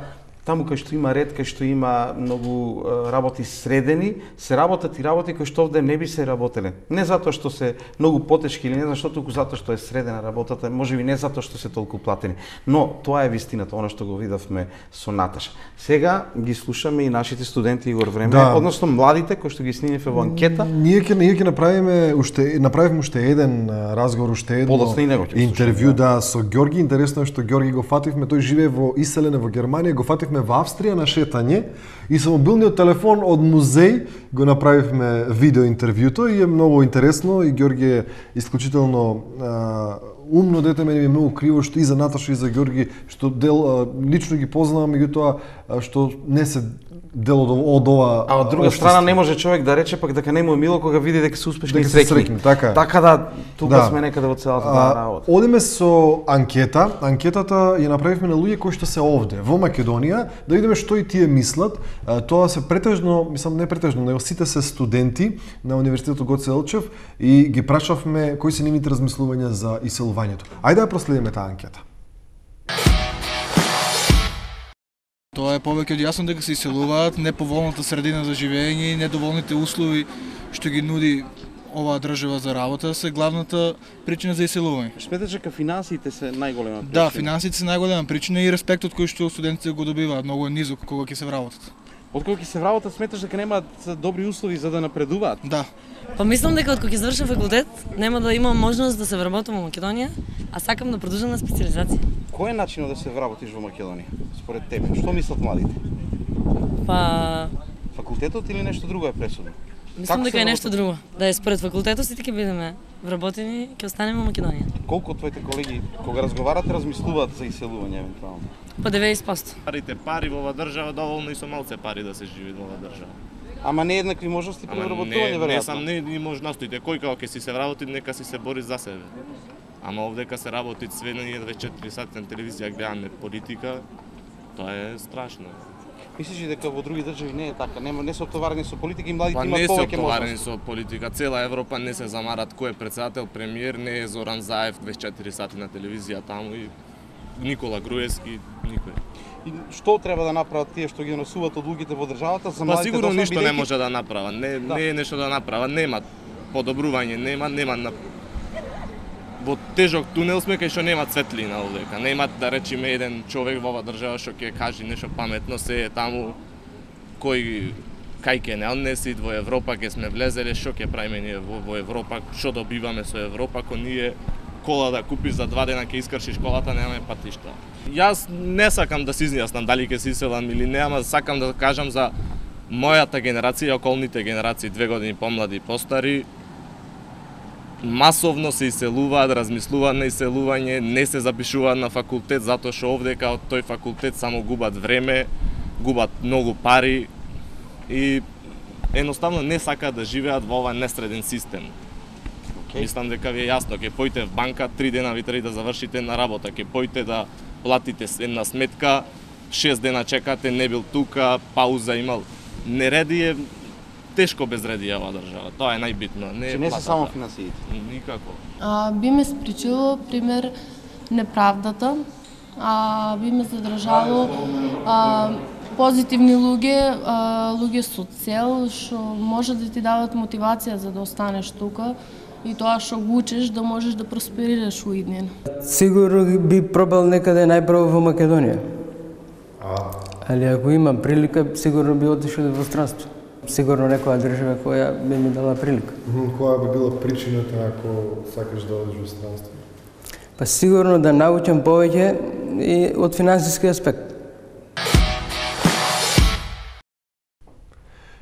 таму кај што има ред, кај што има многу работи средени, се работат и работи кои што овде не би се работеле. Не затоа што се многу потешки или не зашто туку затоа што е средена работата, можеби не затоа што се толку платени. Но тоа е вистината, она што го видовме со Наташа. Сега ги слушаме и нашите студенти Игор Време, да. Односно младите кои што ги снимивме во анкета. Ние ќе ние ќе направиме уште направивме уште еден разговор, уште едно интервју да со Ѓорги. Интересно е што Ѓорги го фативме, тој живее во иселене во Германија, го фативме во Австрија на шетање и со мобилниот телефон од музеј го направивме видео интервјуто и е многу интересно и Ѓорги е исклучително а, умно дете, мене ми е многу криво што и за Наташа и за Ѓорги што дел а, лично ги познавам, меѓутоа што не се дел од, од ова. А од друга страна не може човек да рече пак дека не му е мило кога види дека се успешни и среќни. среќни. Така, така да тука да. сме некаде во целата таа работа. Одиме со анкета. Анкетата ја направивме на луѓе кои што се овде во Македонија, да видиме што и тие мислат. Тоа се претежно, мислам не претежно, него сите се студенти на Универзитетот Гоце Делчев и ги прашавме кои се нивните размислувања за иселувањето. Ајде да проследиме таа анкета. Тоа е повеќе од јасно дека се иселуваат, неповолната средина за живење и недоволните услови што ги нуди оваа држава за работа се главната причина за иселување. Сметаш дека финансиите се најголема причина? Да, финансиите се најголема причина и респектот кој што студентите го добиваат многу е низок кога ќе се вработат. Откога ќе се вработат, сметаш дека немаат добри услови за да напредуваат? Да. Па мислам дека откога ќе завршам факултет, нема да имам можност да се вработам во Македонија, а сакам да продолжам на специализација. Кој е начинот да се вработиш во Македонија, според тебе? Што мислат младите? Па факултетот или нешто друго е пресудно? Мислам дека е нешто друго. Да е според факултетот сите ќе бидеме вработени, ќе останеме во Македонија. Колку од твоите колеги кога разговарате размислуваат за иселување евентуално? Па деветдесет проценти. Парите пари во оваа држава доволно и со малце пари да се живи во оваа држава. Ама не еднакви можности при вработување веројатно. Не сам не ни можностите, кој како ќе си се вработи, нека си се бори за себе. Ама овдека се работи све на дваесет и четири сати на телевизија гледаме политика, тоа е страшно. Мислиш ли дека во други држави не е така? Нема не се оптоварени со политика и младите па, имаат повеќе можности? Не се оптоварени со политика. Цела Европа не се замарат кој е председател, премиер, не е Зоран Заев дваесет и четири сати на телевизија таму и Никола Груевски, никој. И што треба да направат тие што ги носуваат од луѓето во државата за младите? Па сигурно да ништо не може да направат. Не, да. не е нешто да направат. Нема подобрување, нема, нема на во тежок тунел сме кај што нема светлина овдека. Нема да речеме еден човек во оваа држава што ќе каже нешто паметно, се е таму кој кај ќе не однеси во Европа, ќе сме влезеле, што ќе правиме ние во, во Европа, што добиваме со Европа, ако ние кола да купиш за два дена ќе искршиш колата, немаме патишта. Јас не сакам да се изјаснам дали ќе се иселам или не, ама сакам да кажам за мојата генерација и околните генерации, две години помлади и постари. масовно се иселуваат, размислуваат на иселување, не се запишуваат на факултет затоа што овдека од тој факултет само губат време, губат многу пари и едноставно не сакаат да живеат во овој несреден систем. Okay. Мислам дека ви е јасно, ќе појте в банка, три дена ви треба да завршите на работа, ќе појте да платите една сметка, шест дена чекате, не бил тука, пауза имал. Нереди е тешко безредие оваа држава. Тоа е најбитно. Не, Че не се само финансиите. Никако. А, би ме спречило, пример, неправдата. А, би ме задржало а, позитивни луѓе, а, луѓе со цел, што може да ти дават мотивација за да останеш тука и тоа што го учиш да можеш да просперираш у иднина. Сигурно би пробал некаде најпрво во Македонија. Али ако имам прилика, сигурно би отишол во странство. Сигурно некоја држава која би ми дала прилика. Која би била причината ако сакаш да одиш во странство? Па сигурно да научам повеќе и од финансиски аспект.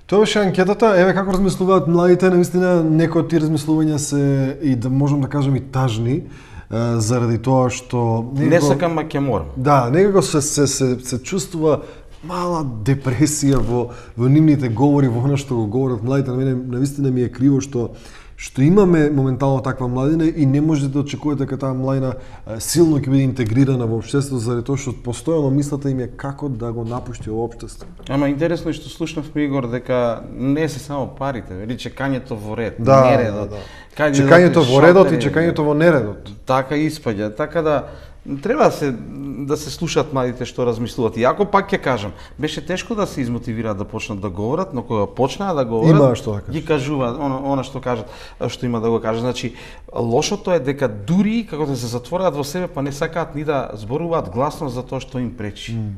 Тоа беше анкетата, еве како размислуваат младите, наистина некои од тие размислувања се и да можам да кажам и тажни, заради тоа што некако... не сакам, ма ќе морам. Да, некако се се се, се чувствува мала депресија во во нивните говори, во она што го говорат младите. На мене навистина ми е криво што што имаме моментално таква младина и не можете да очекувате дека таа младина силно ќе биде интегрирана во општеството заради тоа што постојано мислата им е како да го напушти во општество. Ама интересно е што слушнавме, Игор, дека не се само парите, вели чекањето во ред, да, нередот. Да, да. Чекањето во редот и чекањето во нередот. Така испаѓа, така да треба се да се слушаат младите што размислуваат. Иако пак ќе кажам, беше тешко да се измотивираат да почнат да говорат, но кога почнаа да говорат, да ги кажуваат она, она што кажат, што има да го кажат. Значи, лошото е дека дури како да се затворат во себе, па не сакаат ни да зборуваат гласно за тоа што им пречи. Mm.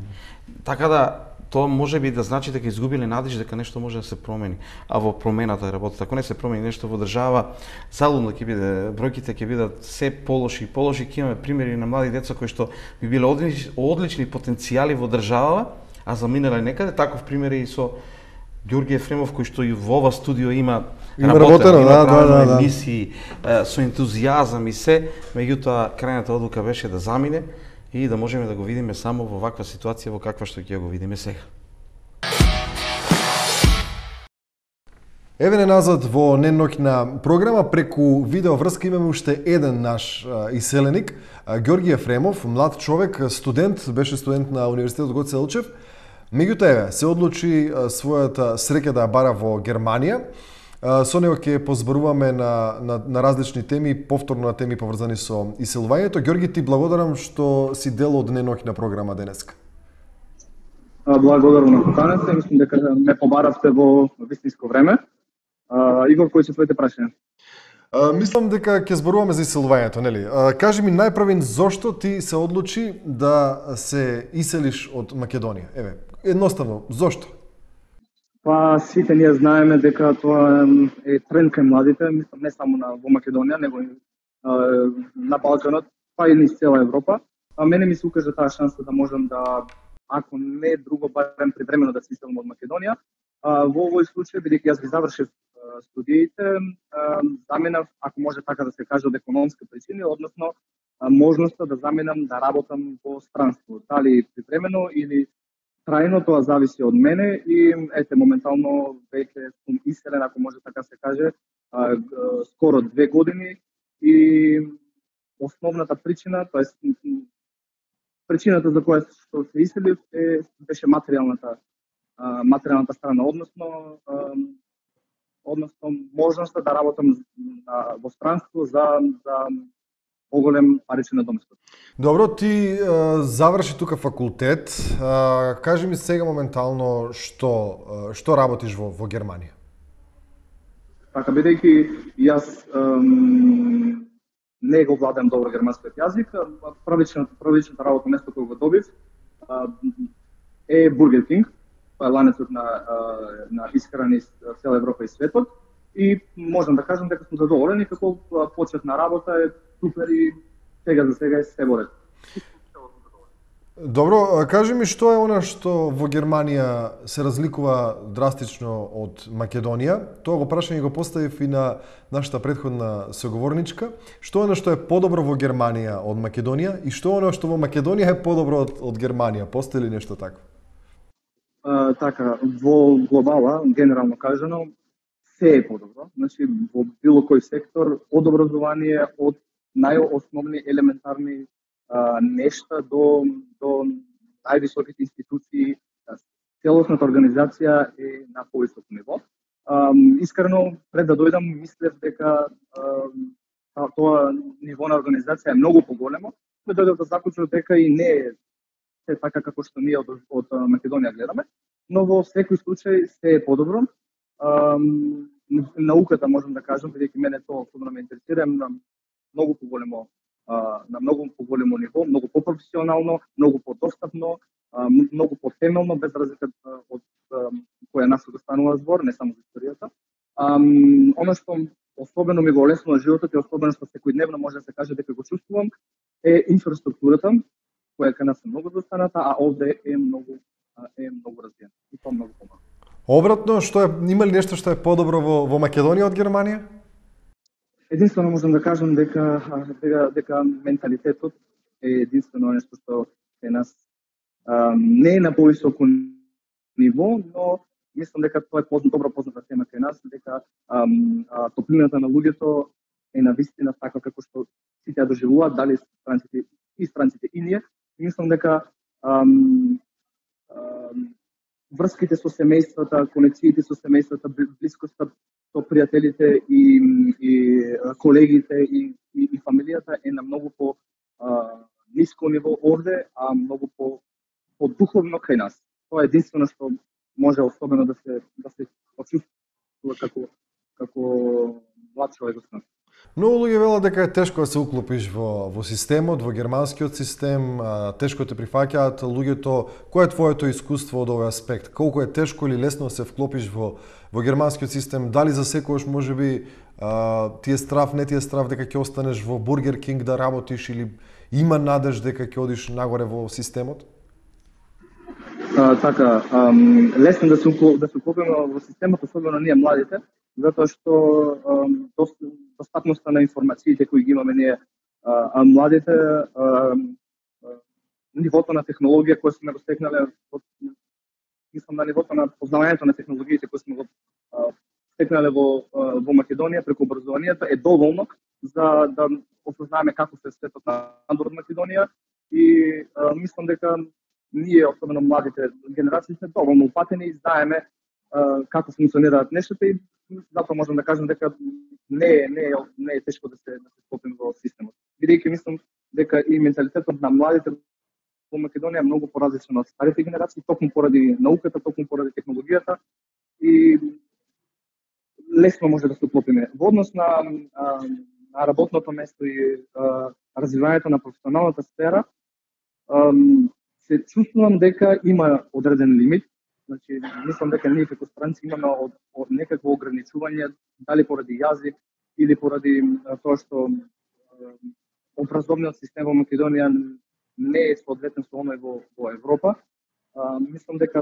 Така да тоа може би да значи дека изгубиле надеж дека нешто може да се промени, а во промената е работата. Ако не се промени нешто во држава, залудно ќе биде, бројките ќе бидат се полоши и полоши. Ќе имаме примери на млади деца кои што би биле одлични, одлични потенцијали во држава, а заминале некаде. Таков пример е и со Ѓорги Ефремов, кој што и во ова студио има работено, има да, да, да, емисии, да. Со ентузијазам и се, меѓутоа крајната одлука беше да замине и да можеме да го видиме само во ваква ситуација во каква што ќе го видиме сега. Еве не назад во неноќна програма, преку видео врска имаме уште еден наш а, иселеник, а, Ѓорги Ефремов, млад човек, студент, беше студент на Универзитетот Гоце Делчев. Меѓутоа еве се одлучи а, својата среќа да ја бара во Германија. А, со него ќе позборуваме на, на, на различни теми, повторно на теми поврзани со иселувањето. Ѓорги, ти благодарам што си дел од неноќна програма денеска. Благодарам на поканата, мислам дека ме побаравте во вистинско време. Uh, Игор, кои се твоите прашања? Uh, мислам дека ќе зборуваме за иселувањето, нели? Uh, кажи ми најпрвен зошто ти се одлучи да се иселиш од Македонија? Еве, едноставно, зошто? Па сите ние знаеме дека тоа е тренд кај младите, мислам не само на во Македонија, него и uh, на Балканот, па и низ цела Европа. А мене ми се укажа таа шанса да можам да, ако не друго, барем предвремено да се иселам од Македонија. Uh, во овој случај, бидејќи јас ги завршив uh, студиите, uh, заминав, ако може така да се каже, од економска причини, односно uh, можноста да заминам да работам во странство. Дали привремено или трајно, тоа зависи од мене и ете, моментално веќе сум иселен, ако може така се каже, uh, uh, скоро две години и основната причина, тоест причината за која што се иселив е, беше материјалната материјалната страна, односно односно можноста да работам во странство за за поголем паричен доместот. Добро, ти а, заврши тука факултет. А, кажи ми сега моментално што а, што работиш во во Германија? Така, бидејќи јас ем, не го владам добро германскиот јазик, првичната првичната работно место кој го добив е Бургер Кинг. Тоа е ланецот на, на исхрани цела Европа и светот и можам да кажам дека сум задоволен и како почетна работа е супер и сега за сега е се во ред. Добро, кажи ми што е она што во Германија се разликува драстично од Македонија? Тоа го прашање го поставив и на нашата претходна соговорничка. Што е она што е подобро во Германија од Македонија и што е она што во Македонија е подобро од, од Германија? Постои ли нешто такво? Uh, така, во глобала, генерално кажано, се е подобро. Значи, во било кој сектор, од образование, од најосновни елементарни uh, нешта до, до највисоките институции, целосната организација е на повисоко ниво. Um, искрено, пред да дојдам, мислев дека uh, тоа ниво на организација е многу поголемо, но дојдов да заклучив дека и не е се така како што ние од, од Македонија гледаме, но во секој случај се е подобро. Um, науката можам да кажам, бидејќи мене тоа особено ме интересира, на многу поголемо uh, на многу поголемо ниво, многу попрофесионално, многу подостапно, uh, многу потемелно, без разлика од uh, која нас го станува збор, не само за историјата. Um, Оно што особено ми го олеснува животот и особено што секојдневно може да се каже дека го чувствувам е инфраструктурата, која кај нас е многу достаната, а овде е многу е многу развиена. И тоа многу помага. Обратно, што е, има ли нешто што е подобро во, во Македонија од Германија? Единствено можам да кажам дека дека, дека менталитетот е единствено нешто што е нас а, не е на повисоко ниво, но мислам дека тоа е позна, добро позната тема кај нас, дека а, а, топлината на луѓето е на вистина така како што сите ја доживуваат, дали странците и странците и ние. Мислам дека ам, ам, врските со семејствата, конекциите со семејствата, блискоста со пријателите и, и колегите и, и, и фамилијата е на многу по а, ниско ниво овде, а многу по, по духовно кај нас. Тоа е единствено што може особено да се да се почувствува како како млад човек во страната. Многу луѓе велат дека е тешко да се уклопиш во, во системот, во германскиот систем, а, тешко те прифаќаат луѓето. Кој е твоето искуство од овој аспект? Колку е тешко или лесно да се вклопиш во, во германскиот систем? Дали за секојаш можеби а, ти е страв, не ти е страв дека ќе останеш во Бургер Кинг да работиш или има надеж дека ќе одиш нагоре во системот? А, така, ам, лесно да се да се уклопиме во системот, особено ние младите, затоа што ам, достапноста на информациите кои ги имаме ние а, а младите, а, а, нивото на технологија кој сме го стекнале, мислам на нивото на познавањето на технологиите кои сме го а, стекнале во, а, во Македонија преку образованието е доволно за да осознаеме како се светот надвор од Македонија и а, мислам дека ние, особено младите генерации, сме доволно упатени и знаеме а, како функционираат нештата и затоа можам да кажам дека не е, не е, не е тешко да се да се вклопиме во системот. Бидејќи мислам дека и менталитетот на младите во Македонија е многу поразличен од старите генерации, токму поради науката, токму поради технологијата и лесно може да се вклопиме. Во однос на, на работното место и а, развивањето на професионалната сфера, а, се чувствувам дека има одреден лимит. Значи, мислам дека ние како странци имаме од, од некакво ограничување, дали поради јазик или поради а, тоа што а, образовниот систем во Македонија не е соодветен со оној во, во Европа. А, мислам дека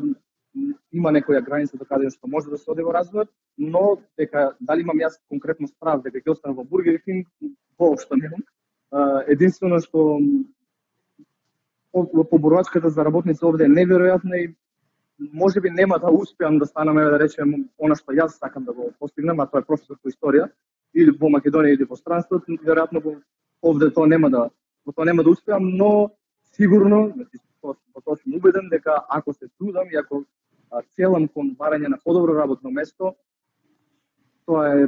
има некоја граница до каде што може да се оди во развојот, но дека дали имам јас конкретно страв дека ќе останам во Бургер Кинг, воопшто немам. А, единствено што поборувачката за работници овде е неверојатна и може би нема да успеам да станам, да речем, она што јас сакам да го постигнам, а тоа е професор по историја, или во Македонија или во странството, веројатно во овде тоа нема да, во тоа нема да успеам, но сигурно, значи, во тоа сум убеден дека ако се трудам и ако целам кон барање на подобро работно место, тоа е,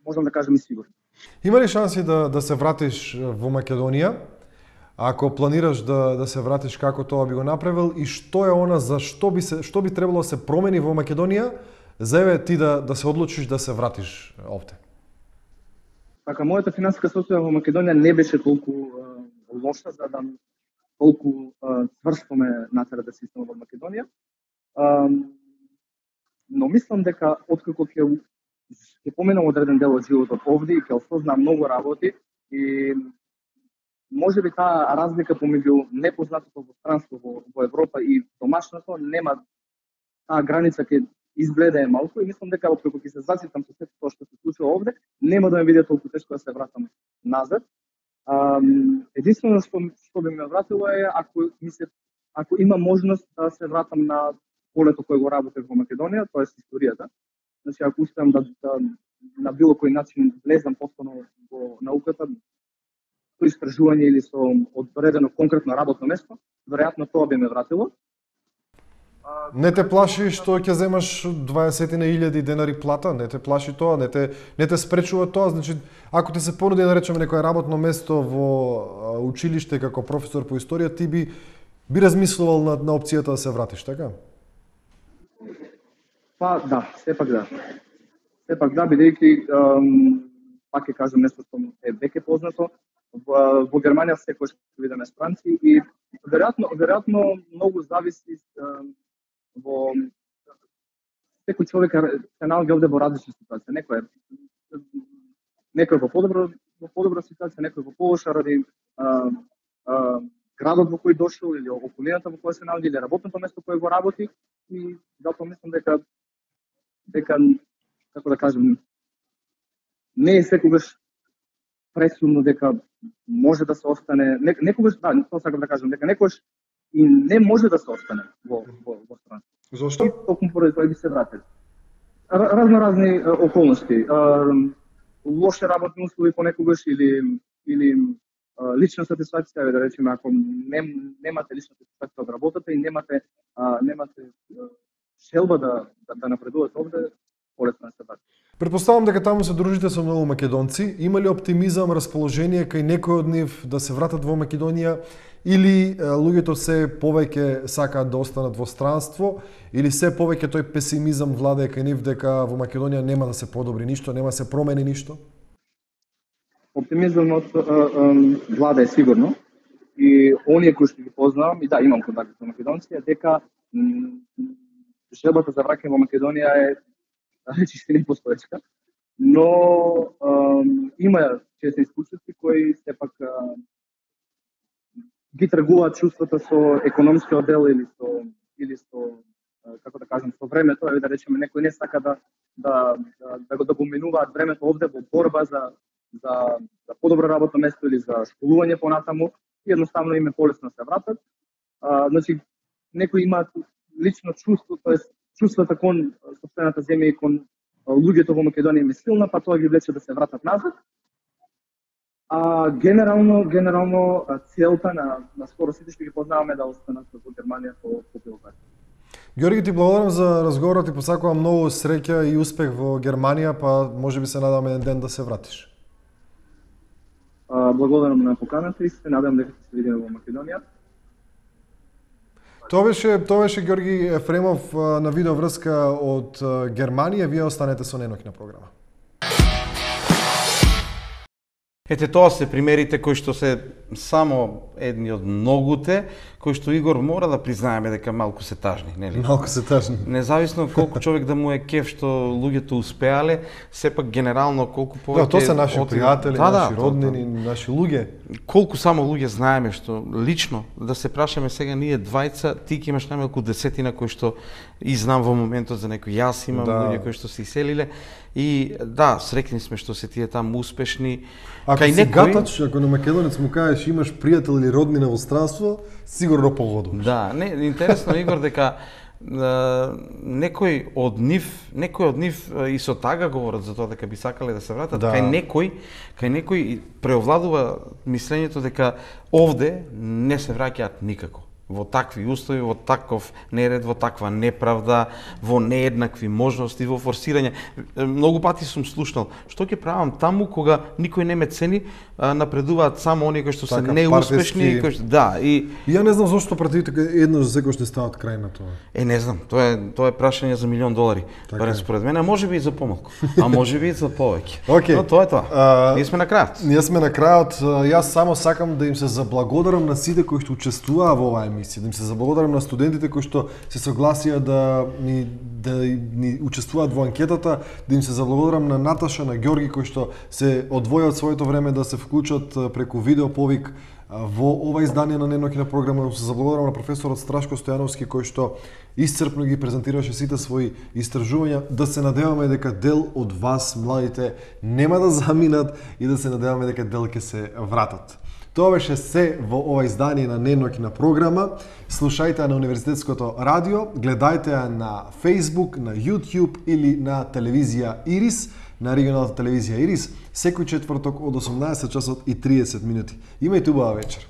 можам да кажам и сигурно. Има ли шанси да, да се вратиш во Македонија? Ако планираш да, да се вратиш, како тоа би го направил и што е она за што би се што би требало да се промени во Македонија за еве ти да да се одлучиш да се вратиш овде? Така, мојата финансиска ситуација во Македонија не беше толку uh, лоша за да толку uh, цврсто ме натера да се истина во Македонија. Uh, но мислам дека откако ќе ќе поминам одреден дел од животот овде и ќе осознам многу работи и можеби таа разлика помеѓу непознатото во странство во, во Европа и домашното нема таа граница ќе изгледа е малку и мислам дека откако ќе се заситам со сето тоа што се случува овде, нема да ме биде толку тешко да се вратам назад. А, единствено што што би ме вратило е ако ми се ако има можност да се вратам на полето кое го работев во Македонија, тоа е историјата. Значи ако успеам да, да на било кој начин влезам повторно во науката, со истражување или со одредено конкретно работно место, веројатно тоа би ме вратило. Не те плаши што ќе земаш дваесет илјади денари плата? Не те плаши тоа? Не те, не те спречува тоа? Значи, ако ти се понуди, да речеме, некое работно место во училиште како професор по историја, ти би би размислувал на, на опцијата да се вратиш, така? Па да, сепак да. Сепак да, бидејќи, пак ќе кажам нешто што е веќе познато, во, во Германија секојаш ќе видиме странци и веројатно, веројатно многу зависи во секој човек се наоѓа овде во различна ситуација. Некој е некој во подобро во подобра ситуација, некој во полоша ради а, а, градот во кој дошол или околината во која се наоѓа или работното место кое го работи и затоа мислам дека дека како да кажем не е секогаш пресудно дека може да се остане не, некогаш да, тоа сакам да кажам дека некогаш и не може да се остане во во во страна. Зошто? Токму поради тоа би се вратили. Разно разни околности, лоши работни услови понекогаш или или лична сатисфакција, да речеме, ако не, немате лична сатисфакција од работата и немате а, немате желба да, да, да напредувате овде, полесно се врати. Предпоставам дека таму се дружите со многу македонци. Има ли оптимизам, расположение кај некој од нив да се вратат во Македонија или луѓето се повеќе сакаат да останат во странство или се повеќе тој песимизам владее кај нив дека во Македонија нема да се подобри ништо, нема да се промени ништо? Оптимизмот влада е сигурно и оние кои што ги познавам, и да, имам контакти со македонци, е дека желбата за враќање во Македонија е речиси непостоечка, но ем, има чести исклучоци кои сепак ги тргуваат чувствата со економскиот дел или со или со како да кажам со времето, е да речеме некој не сака да да да, да го да го минуваат времето овде во борба за за за подобро работно место или за школување понатаму, и едноставно им е полесно да се вратат. А, значи некои имаат лично чувство, тоест чувствата кон сопствената земја и кон луѓето во Македонија е силна, па тоа ги влече да се вратат назад. А генерално, генерално целта на на скоро сите што ги познаваме да останат во Германија по по било каде. Георги, ти благодарам за разговорот и посакувам многу среќа и успех во Германија, па можеби се надам еден ден да се вратиш. А, благодарам на поканата и се надам дека ќе се видиме во Македонија. Тоа беше, тоа беше Георги Ефремов на видео врска од Германија. Вие останете со Неноќна програма. Ете, тоа се примерите кои што се само едни од многуте, кои што Игор мора да признаеме дека малку се тажни, нели? Малку се тажни. Независно колку човек да му е кеф што луѓето успеале, сепак генерално колку повеќе... Да, тоа се наши од... пријатели, да, наши да, роднини, да, да. наши луѓе. Колку само луѓе знаеме што лично, да се прашаме сега ние двајца, ти ќе имаш најмалку десетина кои што и знам во моментот за некој, јас имам да. Луѓе кои што се иселиле и да, среќни сме што се тие таму успешни. Ако си некој... гатач, ако на македонец му кажеш имаш пријател или роднина во странство, сигурно погодуваш. Да, не, интересно Игор дека некој од нив, некој од нив и со тага говорат за тоа дека би сакале да се вратат, да. Кај некој, кај некој преовладува мислењето дека овде не се враќаат никако. Во такви услови, во таков неред, во таква неправда, во нееднакви можности, во форсирање. Многу пати сум слушнал, што ќе правам таму кога никој не ме цени, напредуваат само оние кои што се така, неуспешни, партиски... кои што да, и и ја не знам зошто партиите еднаш секогаш не стават крај на тоа. Е, не знам, тоа е тоа е прашање за милион долари. Така барем според мене, можеби и за помалку, а можеби и за повеќе. Okay. Но тоа е тоа. Uh, ние сме на крајот. Ние сме на крајот. Јас само сакам да им се заблагодарам на сите кои што учествуваа во оваа емисија, да им се заблагодарам на студентите кои што се согласија да ни да ни учествуваат во анкетата, да им се заблагодарам на Наташа, на Ѓорги кои што се одвојат своето време да се вклучат преку видеоповик во ова издание на Неноќна програма. Се заблагодарам на професорот Страшко Стојановски кој што исцрпно ги презентираше сите своји истражувања. Да се надеваме дека дел од вас, младите, нема да заминат и да се надеваме дека дел ќе се вратат. Тоа беше се во ова издание на Неноќна програма. Слушајте ја на Универзитетското радио, гледајте ја на Facebook, на YouTube или на телевизија Ирис, на регионалната телевизија Ирис, секој четврток од осумнаесет часот и триесет минути. Имајте убава вечер.